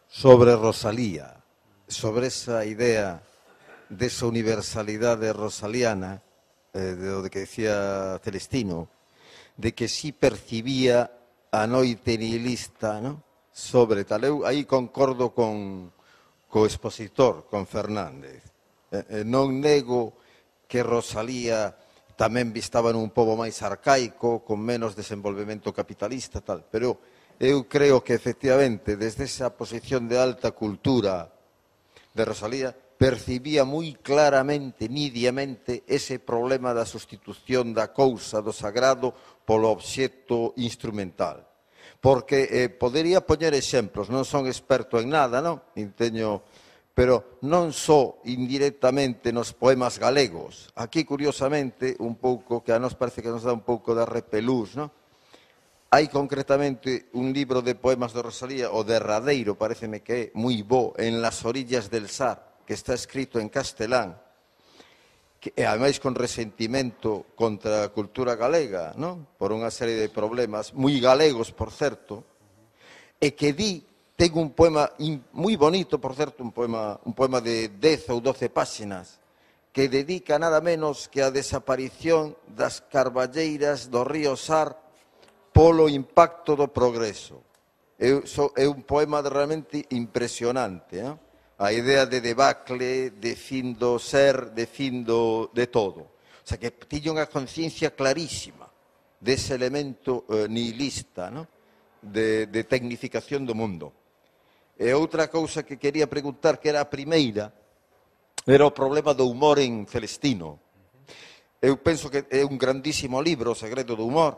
sobre Rosalía, sobre esa idea desa universalidade rosaliana, eh, de o que decía Celestino, de que si percibía a noite nihilista, ¿no?, sobre tal. Eu aí concordo con co expositor, con Fernández. Eh, eh, non nego que Rosalía tamén estaba nun pobo máis arcaico, con menos desenvolvemento capitalista, tal, pero eu creo que, efectivamente, desde esa posición de alta cultura de Rosalía, percibía moi claramente, nidiamente, ese problema da sustitución da cousa, do sagrado, polo obxecto instrumental. Porque eh, podería poñer exemplos, non son experto en nada, non? Teño, pero non só indirectamente nos poemas galegos. Aquí, curiosamente, un pouco, que a nos parece que nos dá un pouco de repelús, non? Hai concretamente un libro de poemas de Rosalía, o derradeiro, pareceme que é moi bo, En las orillas del Sar, que está escrito en castelán, que, e ademais con resentimento contra a cultura galega, non? Por unha serie de problemas, moi galegos, por certo, e que di, ten un poema moi bonito, por certo, un poema, un poema de dez ou doce páxinas, que dedica nada menos que a desaparición das carballeiras do río Sar polo impacto do progreso. É, é un poema realmente impresionante, non? A idea de debacle, de fin do ser, de fin do, de todo. O sea, que tiña unha conciencia clarísima dese elemento eh, nihilista, ¿no?, de, de tecnificación do mundo. E outra cousa que quería preguntar, que era a primeira, era o problema do humor en Celestino. Eu penso que é un grandísimo libro, O segredo do humor,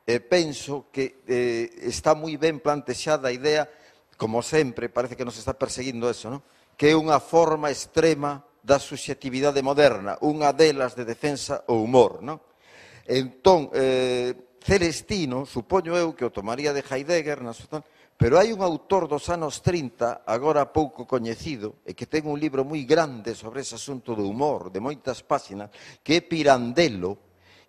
e penso que eh, está moi ben plantexada a idea, como sempre, parece que nos está perseguindo eso, ¿no?, que é unha forma extrema da subxetividade moderna, unha delas de defensa o humor, non? Entón, eh, Celestino, supoño eu que o tomaría de Heidegger, pero hai un autor dos anos trinta, agora pouco coñecido, e que ten un libro moi grande sobre ese asunto do humor, de moitas páxinas, que é Pirandello,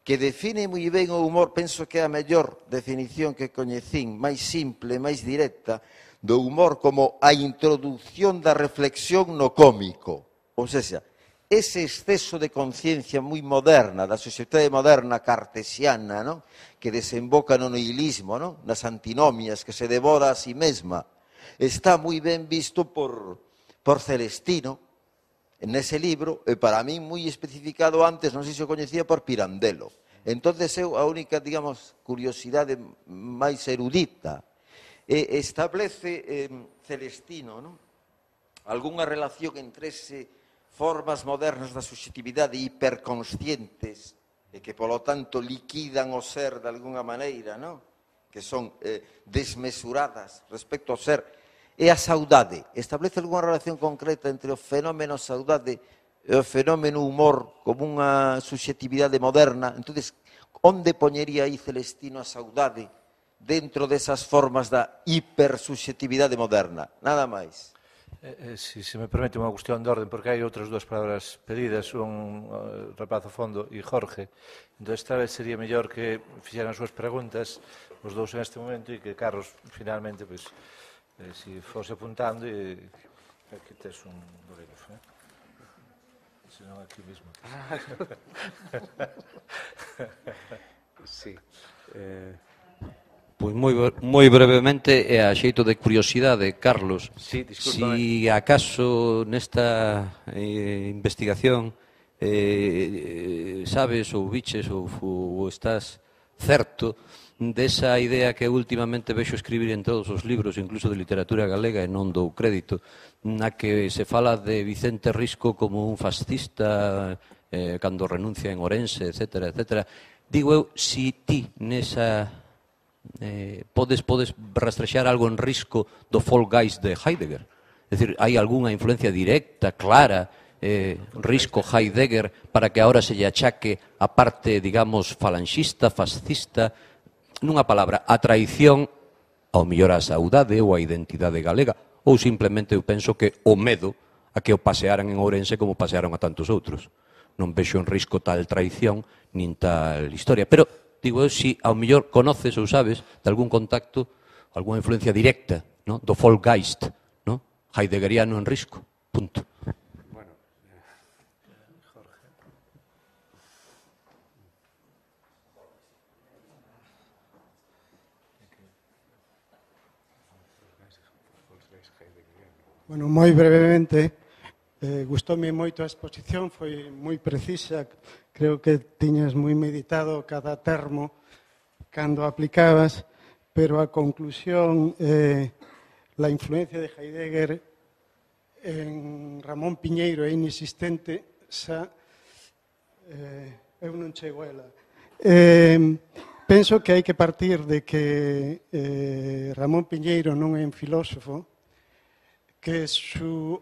que define moi ben o humor, penso que é a mellor definición que coñecín, máis simple, máis directa, do humor como a introducción da reflexión no cómico. Ou seja, ese exceso de conciencia moi moderna, da sociedade moderna cartesiana, ¿no?, que desemboca no nihilismo, ¿no?, nas antinomias, que se devora a si mesma, está moi ben visto por, por Celestino nese libro, e para mí moi especificado antes, non sei se o coñecía, por Pirandello. Entón, eu, a única, digamos, curiosidade máis erudita, e establece eh, Celestino, ¿no?, algunha relación entre ese formas modernas da subxetividade hiperconscientes e que, polo tanto, liquidan o ser de alguna maneira, ¿no?, que son eh, desmesuradas respecto ao ser, e a saudade. Establece algunha relación concreta entre o fenómeno saudade e o fenómeno humor como unha subxetividade moderna. Entón, onde poñería aí Celestino a saudade dentro desas formas da hipersubxetividade moderna? Nada máis. Eh, eh, si se me permite unha cuestión de orden, porque hai outras dúas palabras pedidas, un uh, Rapazo Fondo e Jorge. Entón, esta vez sería mellor que fixeran as súas preguntas os dous en este momento e que Carlos, finalmente, pois, eh, si fose apuntando, e aquí tes un bolígrafo, eh? Se non aquí mismo. Sí. Eh... Pois moi, moi brevemente, e a xeito de curiosidade, Carlos, sí, si acaso nesta eh, investigación eh, sabes ou biches ou, ou estás certo desa idea que últimamente vexo escribir en todos os libros, incluso de literatura galega, e non dou crédito, na que se fala de Vicente Risco como un fascista eh, cando renuncia en Ourense, etcétera, etcétera. Digo eu, si ti nesa eh, podes, podes rastrexar algo en Risco do Folgeist de Heidegger. É dicir, hai algunha influencia directa, clara, eh, Risco, Heidegger, para que ahora se lle achaque a parte, digamos, falanxista, fascista, nunha palabra, a traición ao mellor a saudade ou a identidade galega, ou simplemente eu penso que o medo a que o pasearan en Ourense como pasearon a tantos outros. Non vexo en Risco tal traición nin tal historia. Pero, digo eu, si ao mellor conoces ou sabes de algún contacto, algunha influencia directa, no? Do Folgeist, no? Heideggeriano en Risco, punto. Bueno, moi brevemente, eh, gustoume moito a exposición, foi moi precisa, creo que tiñas moi meditado cada termo cando aplicabas, pero a conclusión, eh, la influencia de Heidegger en Ramón Piñeiro é inexistente, xa eh, eu non chego a ela. Eh, penso que hai que partir de que eh, Ramón Piñeiro non é un filósofo, que su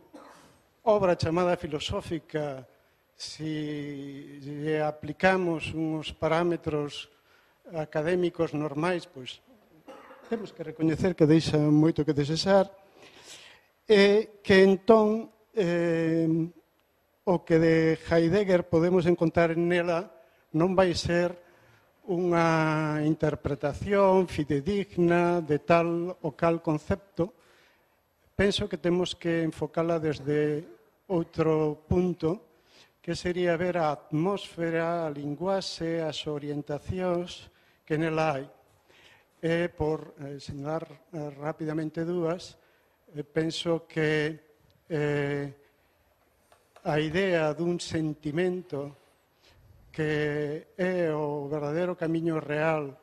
obra chamada filosófica, si lle aplicamos uns parámetros académicos normais, pois temos que recoñecer que deixa moito que desexar, e que entón eh, o que de Heidegger podemos encontrar nela non vai ser unha interpretación fidedigna de tal ou cal concepto. Penso que temos que enfocala desde outro punto, que sería ver a atmósfera, a linguaxe, as orientacións que nela hai. E, por eh, señalar eh, rapidamente dúas, eh, penso que eh, a idea dun sentimento que é o verdadeiro camiño real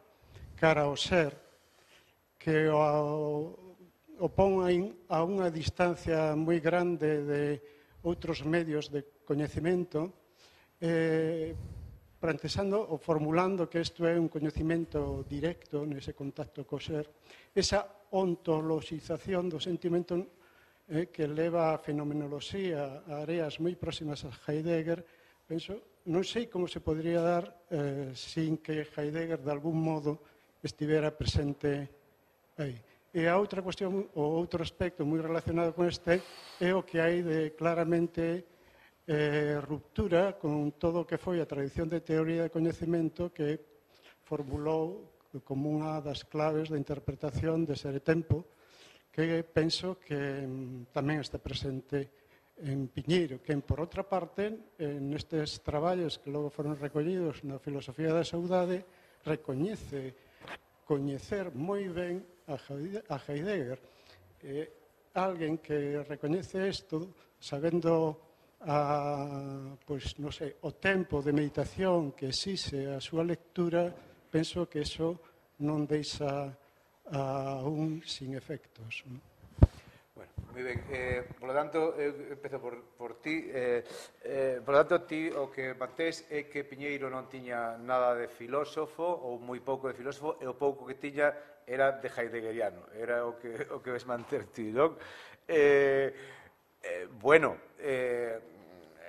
cara ao ser, que o o pon a unha distancia moi grande de outros medios de coñecemento, eh, plantexando ou formulando que isto é un coñecemento directo nese contacto co ser, esa ontoloxización do sentimento eh, que leva a fenomenoloxía a áreas moi próximas a Heidegger, penso, non sei como se podría dar eh, sin que Heidegger de algún modo estivera presente aí. E a outra cuestión, o outro aspecto moi relacionado con este, é o que hai de claramente eh, ruptura con todo o que foi a tradición de teoría de coñecemento que formulou como unha das claves da interpretación de Ser e Tempo, que penso que tamén está presente en Piñeiro, que, por outra parte, nestes traballos que logo foron recollidos na filosofía da saudade, recoñece coñecer moi ben a Heidegger. Eh, alguén que recoñece isto, sabendo a, pois, non sei, o tempo de meditación que exixe a súa lectura, penso que iso non deixa a un sin efectos. Bueno, moi ben. Eh, por lo tanto, eu empezo por, por ti. Eh, eh, por lo tanto, ti o que mantés é que Piñeiro non tiña nada de filósofo ou moi pouco de filósofo, e o pouco que tiña era de heideggeriano, era o que, o que ves manter ti, non? Eh, eh, bueno, eh,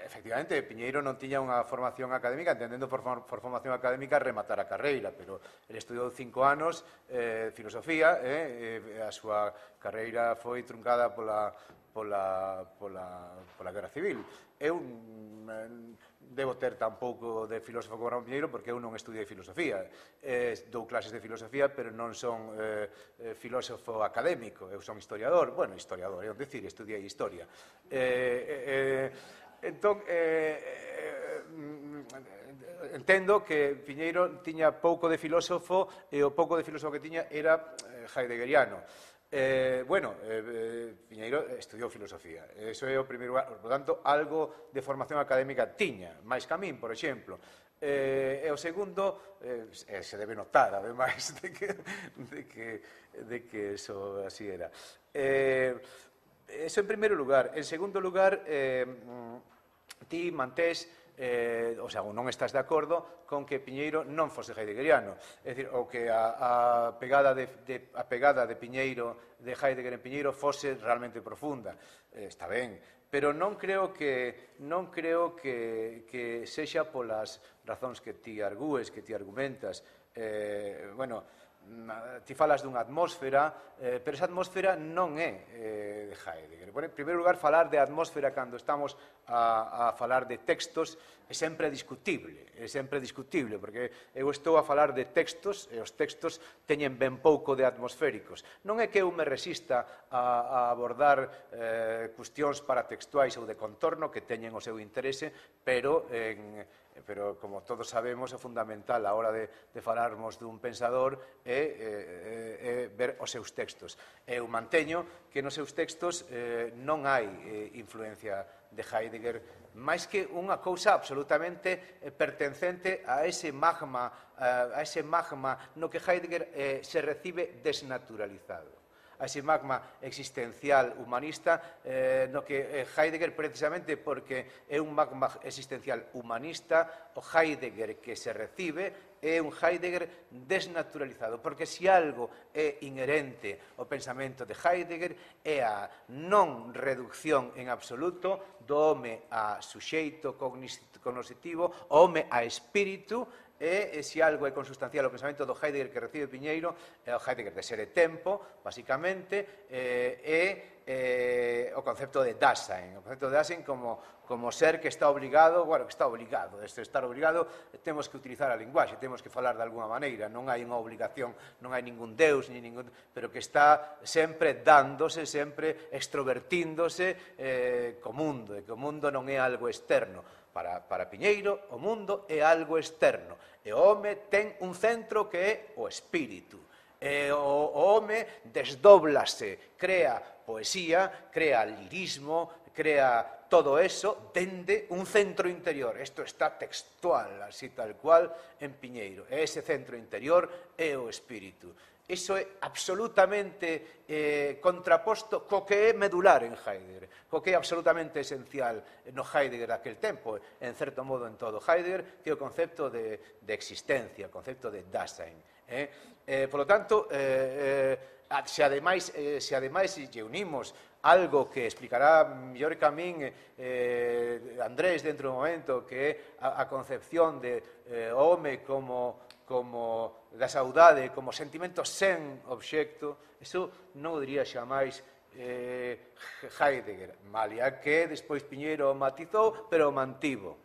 efectivamente, Piñeiro non tiña unha formación académica, entendendo por, por formación académica rematar a carreira, pero ele estudou cinco anos eh, filosofía, eh, a súa carreira foi truncada pola, pola, pola, pola Guerra Civil. Eu debo ter tan pouco de filósofo como Ramón Piñeiro porque eu non estudiei filosofía. Eh, dou clases de filosofía, pero non son eh, filósofo académico, eu son historiador. Bueno, historiador, é dicir, estudiei historia. Eh, eh, entón, eh, eh, entendo que Piñeiro tiña pouco de filósofo e o pouco de filósofo que tiña era heideggeriano. Eh, bueno, eh, Piñeiro estudiou filosofía, eso é o primeiro lugar, por tanto, algo de formación académica tiña, máis que a min, por exemplo. Eh, e o segundo, eh, se debe notar, ademais, de que, de que, de que eso así era. Eh, eso en primeiro lugar. En segundo lugar, eh, ti mantés, eh, o sea, non estás de acordo con que Piñeiro non fose heideggeriano. É dicir, o que a, a, pegada de, de, a pegada de Piñeiro, de Heidegger en Piñeiro, fose realmente profunda. Eh, está ben. Pero non creo que non creo que, que sexa polas razóns que ti argúes, que ti argumentas. Eh, bueno, ti falas dunha atmósfera, eh, pero esa atmósfera non é eh, de Heidegger. Bueno, en primeiro lugar, falar de atmósfera cando estamos a, a falar de textos é sempre discutible, é sempre discutible, porque eu estou a falar de textos e os textos teñen ben pouco de atmosféricos. Non é que eu me resista a, a abordar eh, cuestións paratextuais ou de contorno que teñen o seu interese, pero en pero como todos sabemos, é fundamental a hora de, de falarmos dun pensador é, é, é ver os seus textos. Eu manteño que nos seus textos eh, non hai eh, influencia de Heidegger, máis que unha cousa absolutamente eh, pertencente a ese magma, a ese magma no que Heidegger eh, se recibe desnaturalizado, a ese magma existencial humanista, eh, no que Heidegger, precisamente porque é un magma existencial humanista, o Heidegger que se recibe é un Heidegger desnaturalizado, porque se algo é inherente ao pensamento de Heidegger é a non reducción en absoluto do home a suxeito cognoscitivo, o home a espírito, e se algo é consustancial ao pensamento do Heidegger que recibe Piñeiro, é o Heidegger de ser e tempo, basicamente, é eh, o concepto de Dasein, o concepto de Dasein como, como ser que está obligado, bueno, que está obligado, este estar obligado, temos que utilizar a linguaxe, temos que falar de alguna maneira, non hai unha obligación, non hai ningún deus, ni ningún, pero que está sempre dándose, sempre extrovertíndose eh, co mundo, e que o mundo non é algo externo. Para, para Piñeiro, o mundo é algo externo, e o home ten un centro que é o espírito. E o, o home desdóblase, crea poesía, crea lirismo, crea todo eso dende un centro interior. Isto está textual, así tal cual, en Piñeiro. E ese centro interior é o espírito. Iso é absolutamente eh, contraposto co que é medular en Heidegger, co que é absolutamente esencial no Heidegger daquel tempo, en certo modo en todo Heidegger, que é o concepto de, de existencia, o concepto de Dasein. Eh? Eh, por lo tanto, eh, eh, se ademais, eh, se ademais lle unimos algo que explicará mellor que a min eh, Andrés dentro do momento, que é a, a concepción de eh, home como como da saudade, como sentimento sen obxecto, iso non o diría xamais eh, Heidegger, malia que despois Piñeiro o matizou, pero o mantivo.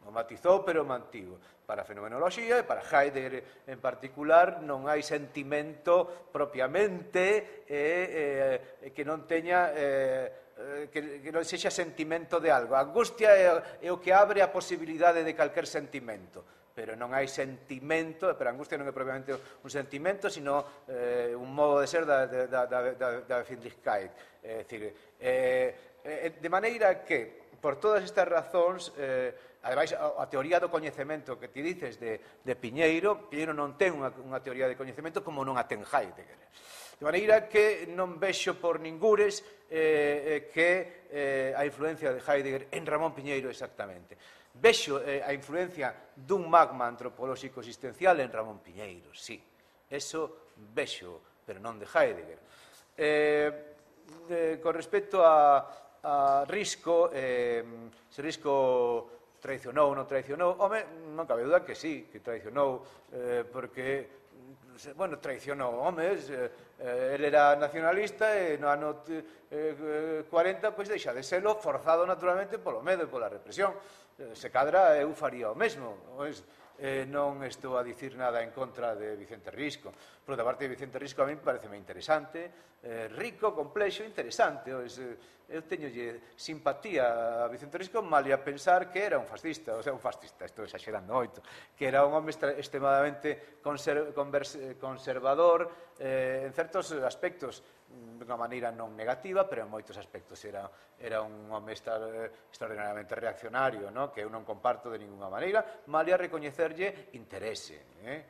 O matizou, pero o mantivo. Para a fenomenoloxía e para Heidegger en particular non hai sentimento propiamente eh, eh, que non teña... Eh, Que, que non sexa sentimento de algo. A angustia é, é o que abre a posibilidade de calquer sentimento, pero non hai sentimento, pero a angustia non é propiamente un sentimento, sino eh, un modo de ser da, da, da, da, da Finlichkeit. É dicir, eh, eh, de maneira que, por todas estas razóns, eh, ademais, a, a teoría do coñecemento que ti dices de, de Piñeiro, Piñeiro non ten unha, unha teoría de coñecemento como non a ten Heidegger. De maneira que non vexo por ningures eh, que eh, a influencia de Heidegger en Ramón Piñeiro exactamente. Vexo eh, a influencia dun magma antropolóxico existencial en Ramón Piñeiro, sí. Eso vexo, pero non de Heidegger. Eh, de, con respecto a, a Risco, eh, se Risco traicionou ou non traicionou, home, non cabe duda que sí, que traicionou, eh, porque... bueno, traicionou homes, eh, ele era nacionalista e no ano eh, cuarenta, pois deixa de selo, forzado naturalmente polo medo e pola represión. Eh, se cadra, eu faría o mesmo, pois, eh, non estou a dicir nada en contra de Vicente Risco. Por outra parte, Vicente Risco a mí pareceme interesante, eh, rico, complexo, interesante, pois, eh, eu teñolle simpatía a Vicente Risco, malia pensar que era un fascista, o sea, un fascista, estou exagerando moito, que era un home extremadamente conser conservador eh, en certos aspectos, dunha maneira non negativa, pero en moitos aspectos era, era un home extraordinariamente reaccionario, no? Que eu non comparto de ninguna maneira, malia recoñecerlle interese, eh?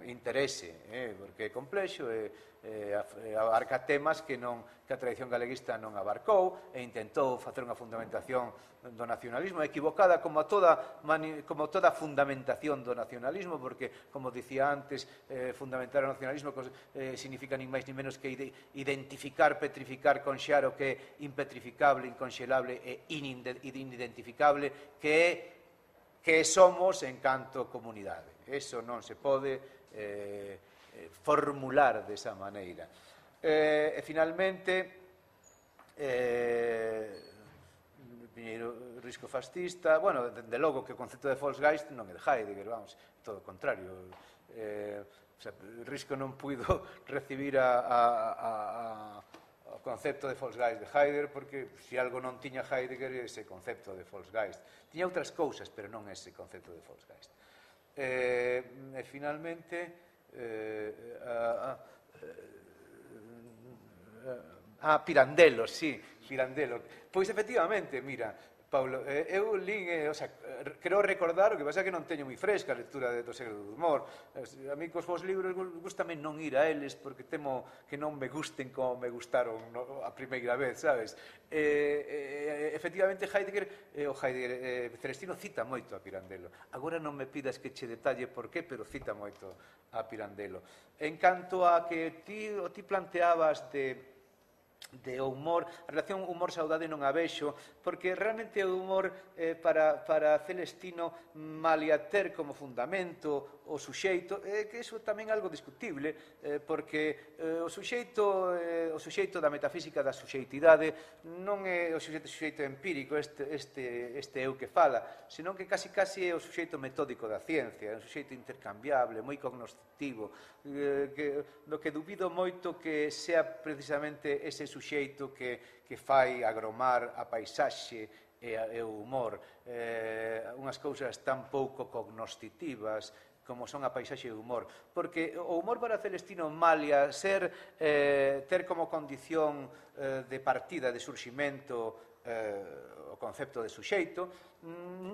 interese, eh? Porque é complexo e eh, abarca temas que, non, que a tradición galeguista non abarcou e intentou facer unha fundamentación do nacionalismo equivocada como toda, como toda fundamentación do nacionalismo, porque, como dicía antes, eh, fundamentar o nacionalismo eh, significa nin máis nin menos que identificar, petrificar, conxear o que é impetrificable, inconxelable e inidentificable, que é que somos en canto comunidade. Eso non se pode eh, formular desa maneira. Eh, e, finalmente, eh, Piñeiro Risco fascista, bueno, de logo que o concepto de Volksgeist non é de Heidegger, vamos, todo o contrario. Eh, o sea, Risco non puido recibir a, a, a, a, o concepto de Volksgeist de Heidegger porque se algo non tiña Heidegger ese concepto de Volksgeist. Tiña outras cousas, pero non ese concepto de Volksgeist. Eh, e finalmente eh, a, a, a Pirandello, sí, Pirandello. Pois efectivamente, mira, Paulo, eh, eu lín, eh, o sea, creo recordar, o que pasa é que non teño moi fresca a lectura do Segredo do Humor. A mí cos vos libros gustame non ir a eles porque temo que non me gusten como me gustaron no, a primeira vez, sabes? Eh, eh, efectivamente, Heidegger, eh, o Heidegger, eh, Celestino cita moito a Pirandello. Agora non me pidas que che detalle por qué, pero cita moito a Pirandello. En canto a que ti, o ti planteabas de de o humor, a relación humor-saudade non a vexo, porque realmente o humor eh, para, para Celestino malia ter como fundamento o suxeito, eh, que iso tamén é algo discutible, eh, porque eh, o suxeito eh, o suxeito da metafísica da suxeitidade non é o suxeito, suxeito empírico, este, este, este eu que fala, senón que casi casi é o suxeito metódico da ciencia, é un suxeito intercambiable, moi cognoscitivo, eh, que, do que dubido moito que sea precisamente ese suxeito que, que fai agromar a paisaxe e, a, e o humor, eh, unhas cousas tan pouco cognoscitivas como son a paisaxe e o humor, porque o humor para Celestino malia ser, eh, ter como condición eh, de partida, de surximento, eh, o concepto de suxeito,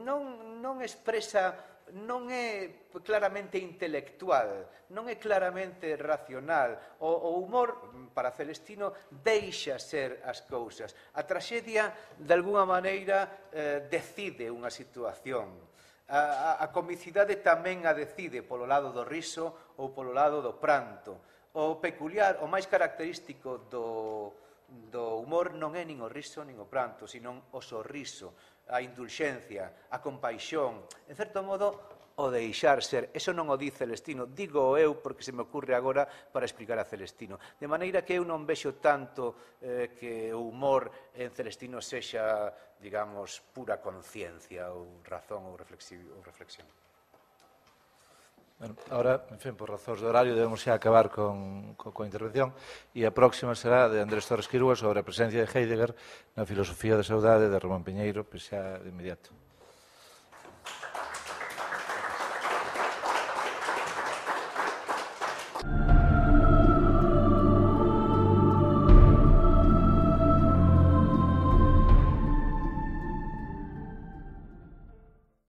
non, non expresa, non é claramente intelectual, non é claramente racional. O, o humor, para Celestino, deixa ser as cousas. A traxedia, de alguna maneira, eh, decide unha situación. A, a, a comicidade tamén a decide polo lado do riso ou polo lado do pranto. O peculiar, o máis característico do, do humor non é nin o riso nin o pranto, senón o sorriso, a indulxencia, a compaixón, en certo modo, o deixar ser. Eso non o di Celestino, digo eu porque se me ocurre agora para explicar a Celestino. De maneira que eu non vexo tanto eh, que o humor en Celestino sexa, digamos, pura conciencia ou razón ou reflexión. Bueno, ahora, en fin, por razóns de horario debemos xa acabar con, con, con a intervención e a próxima será de Andrés Torres Quirúa sobre a presencia de Heidegger na filosofía da saudade de Ramón Piñeiro, pois xa de inmediato.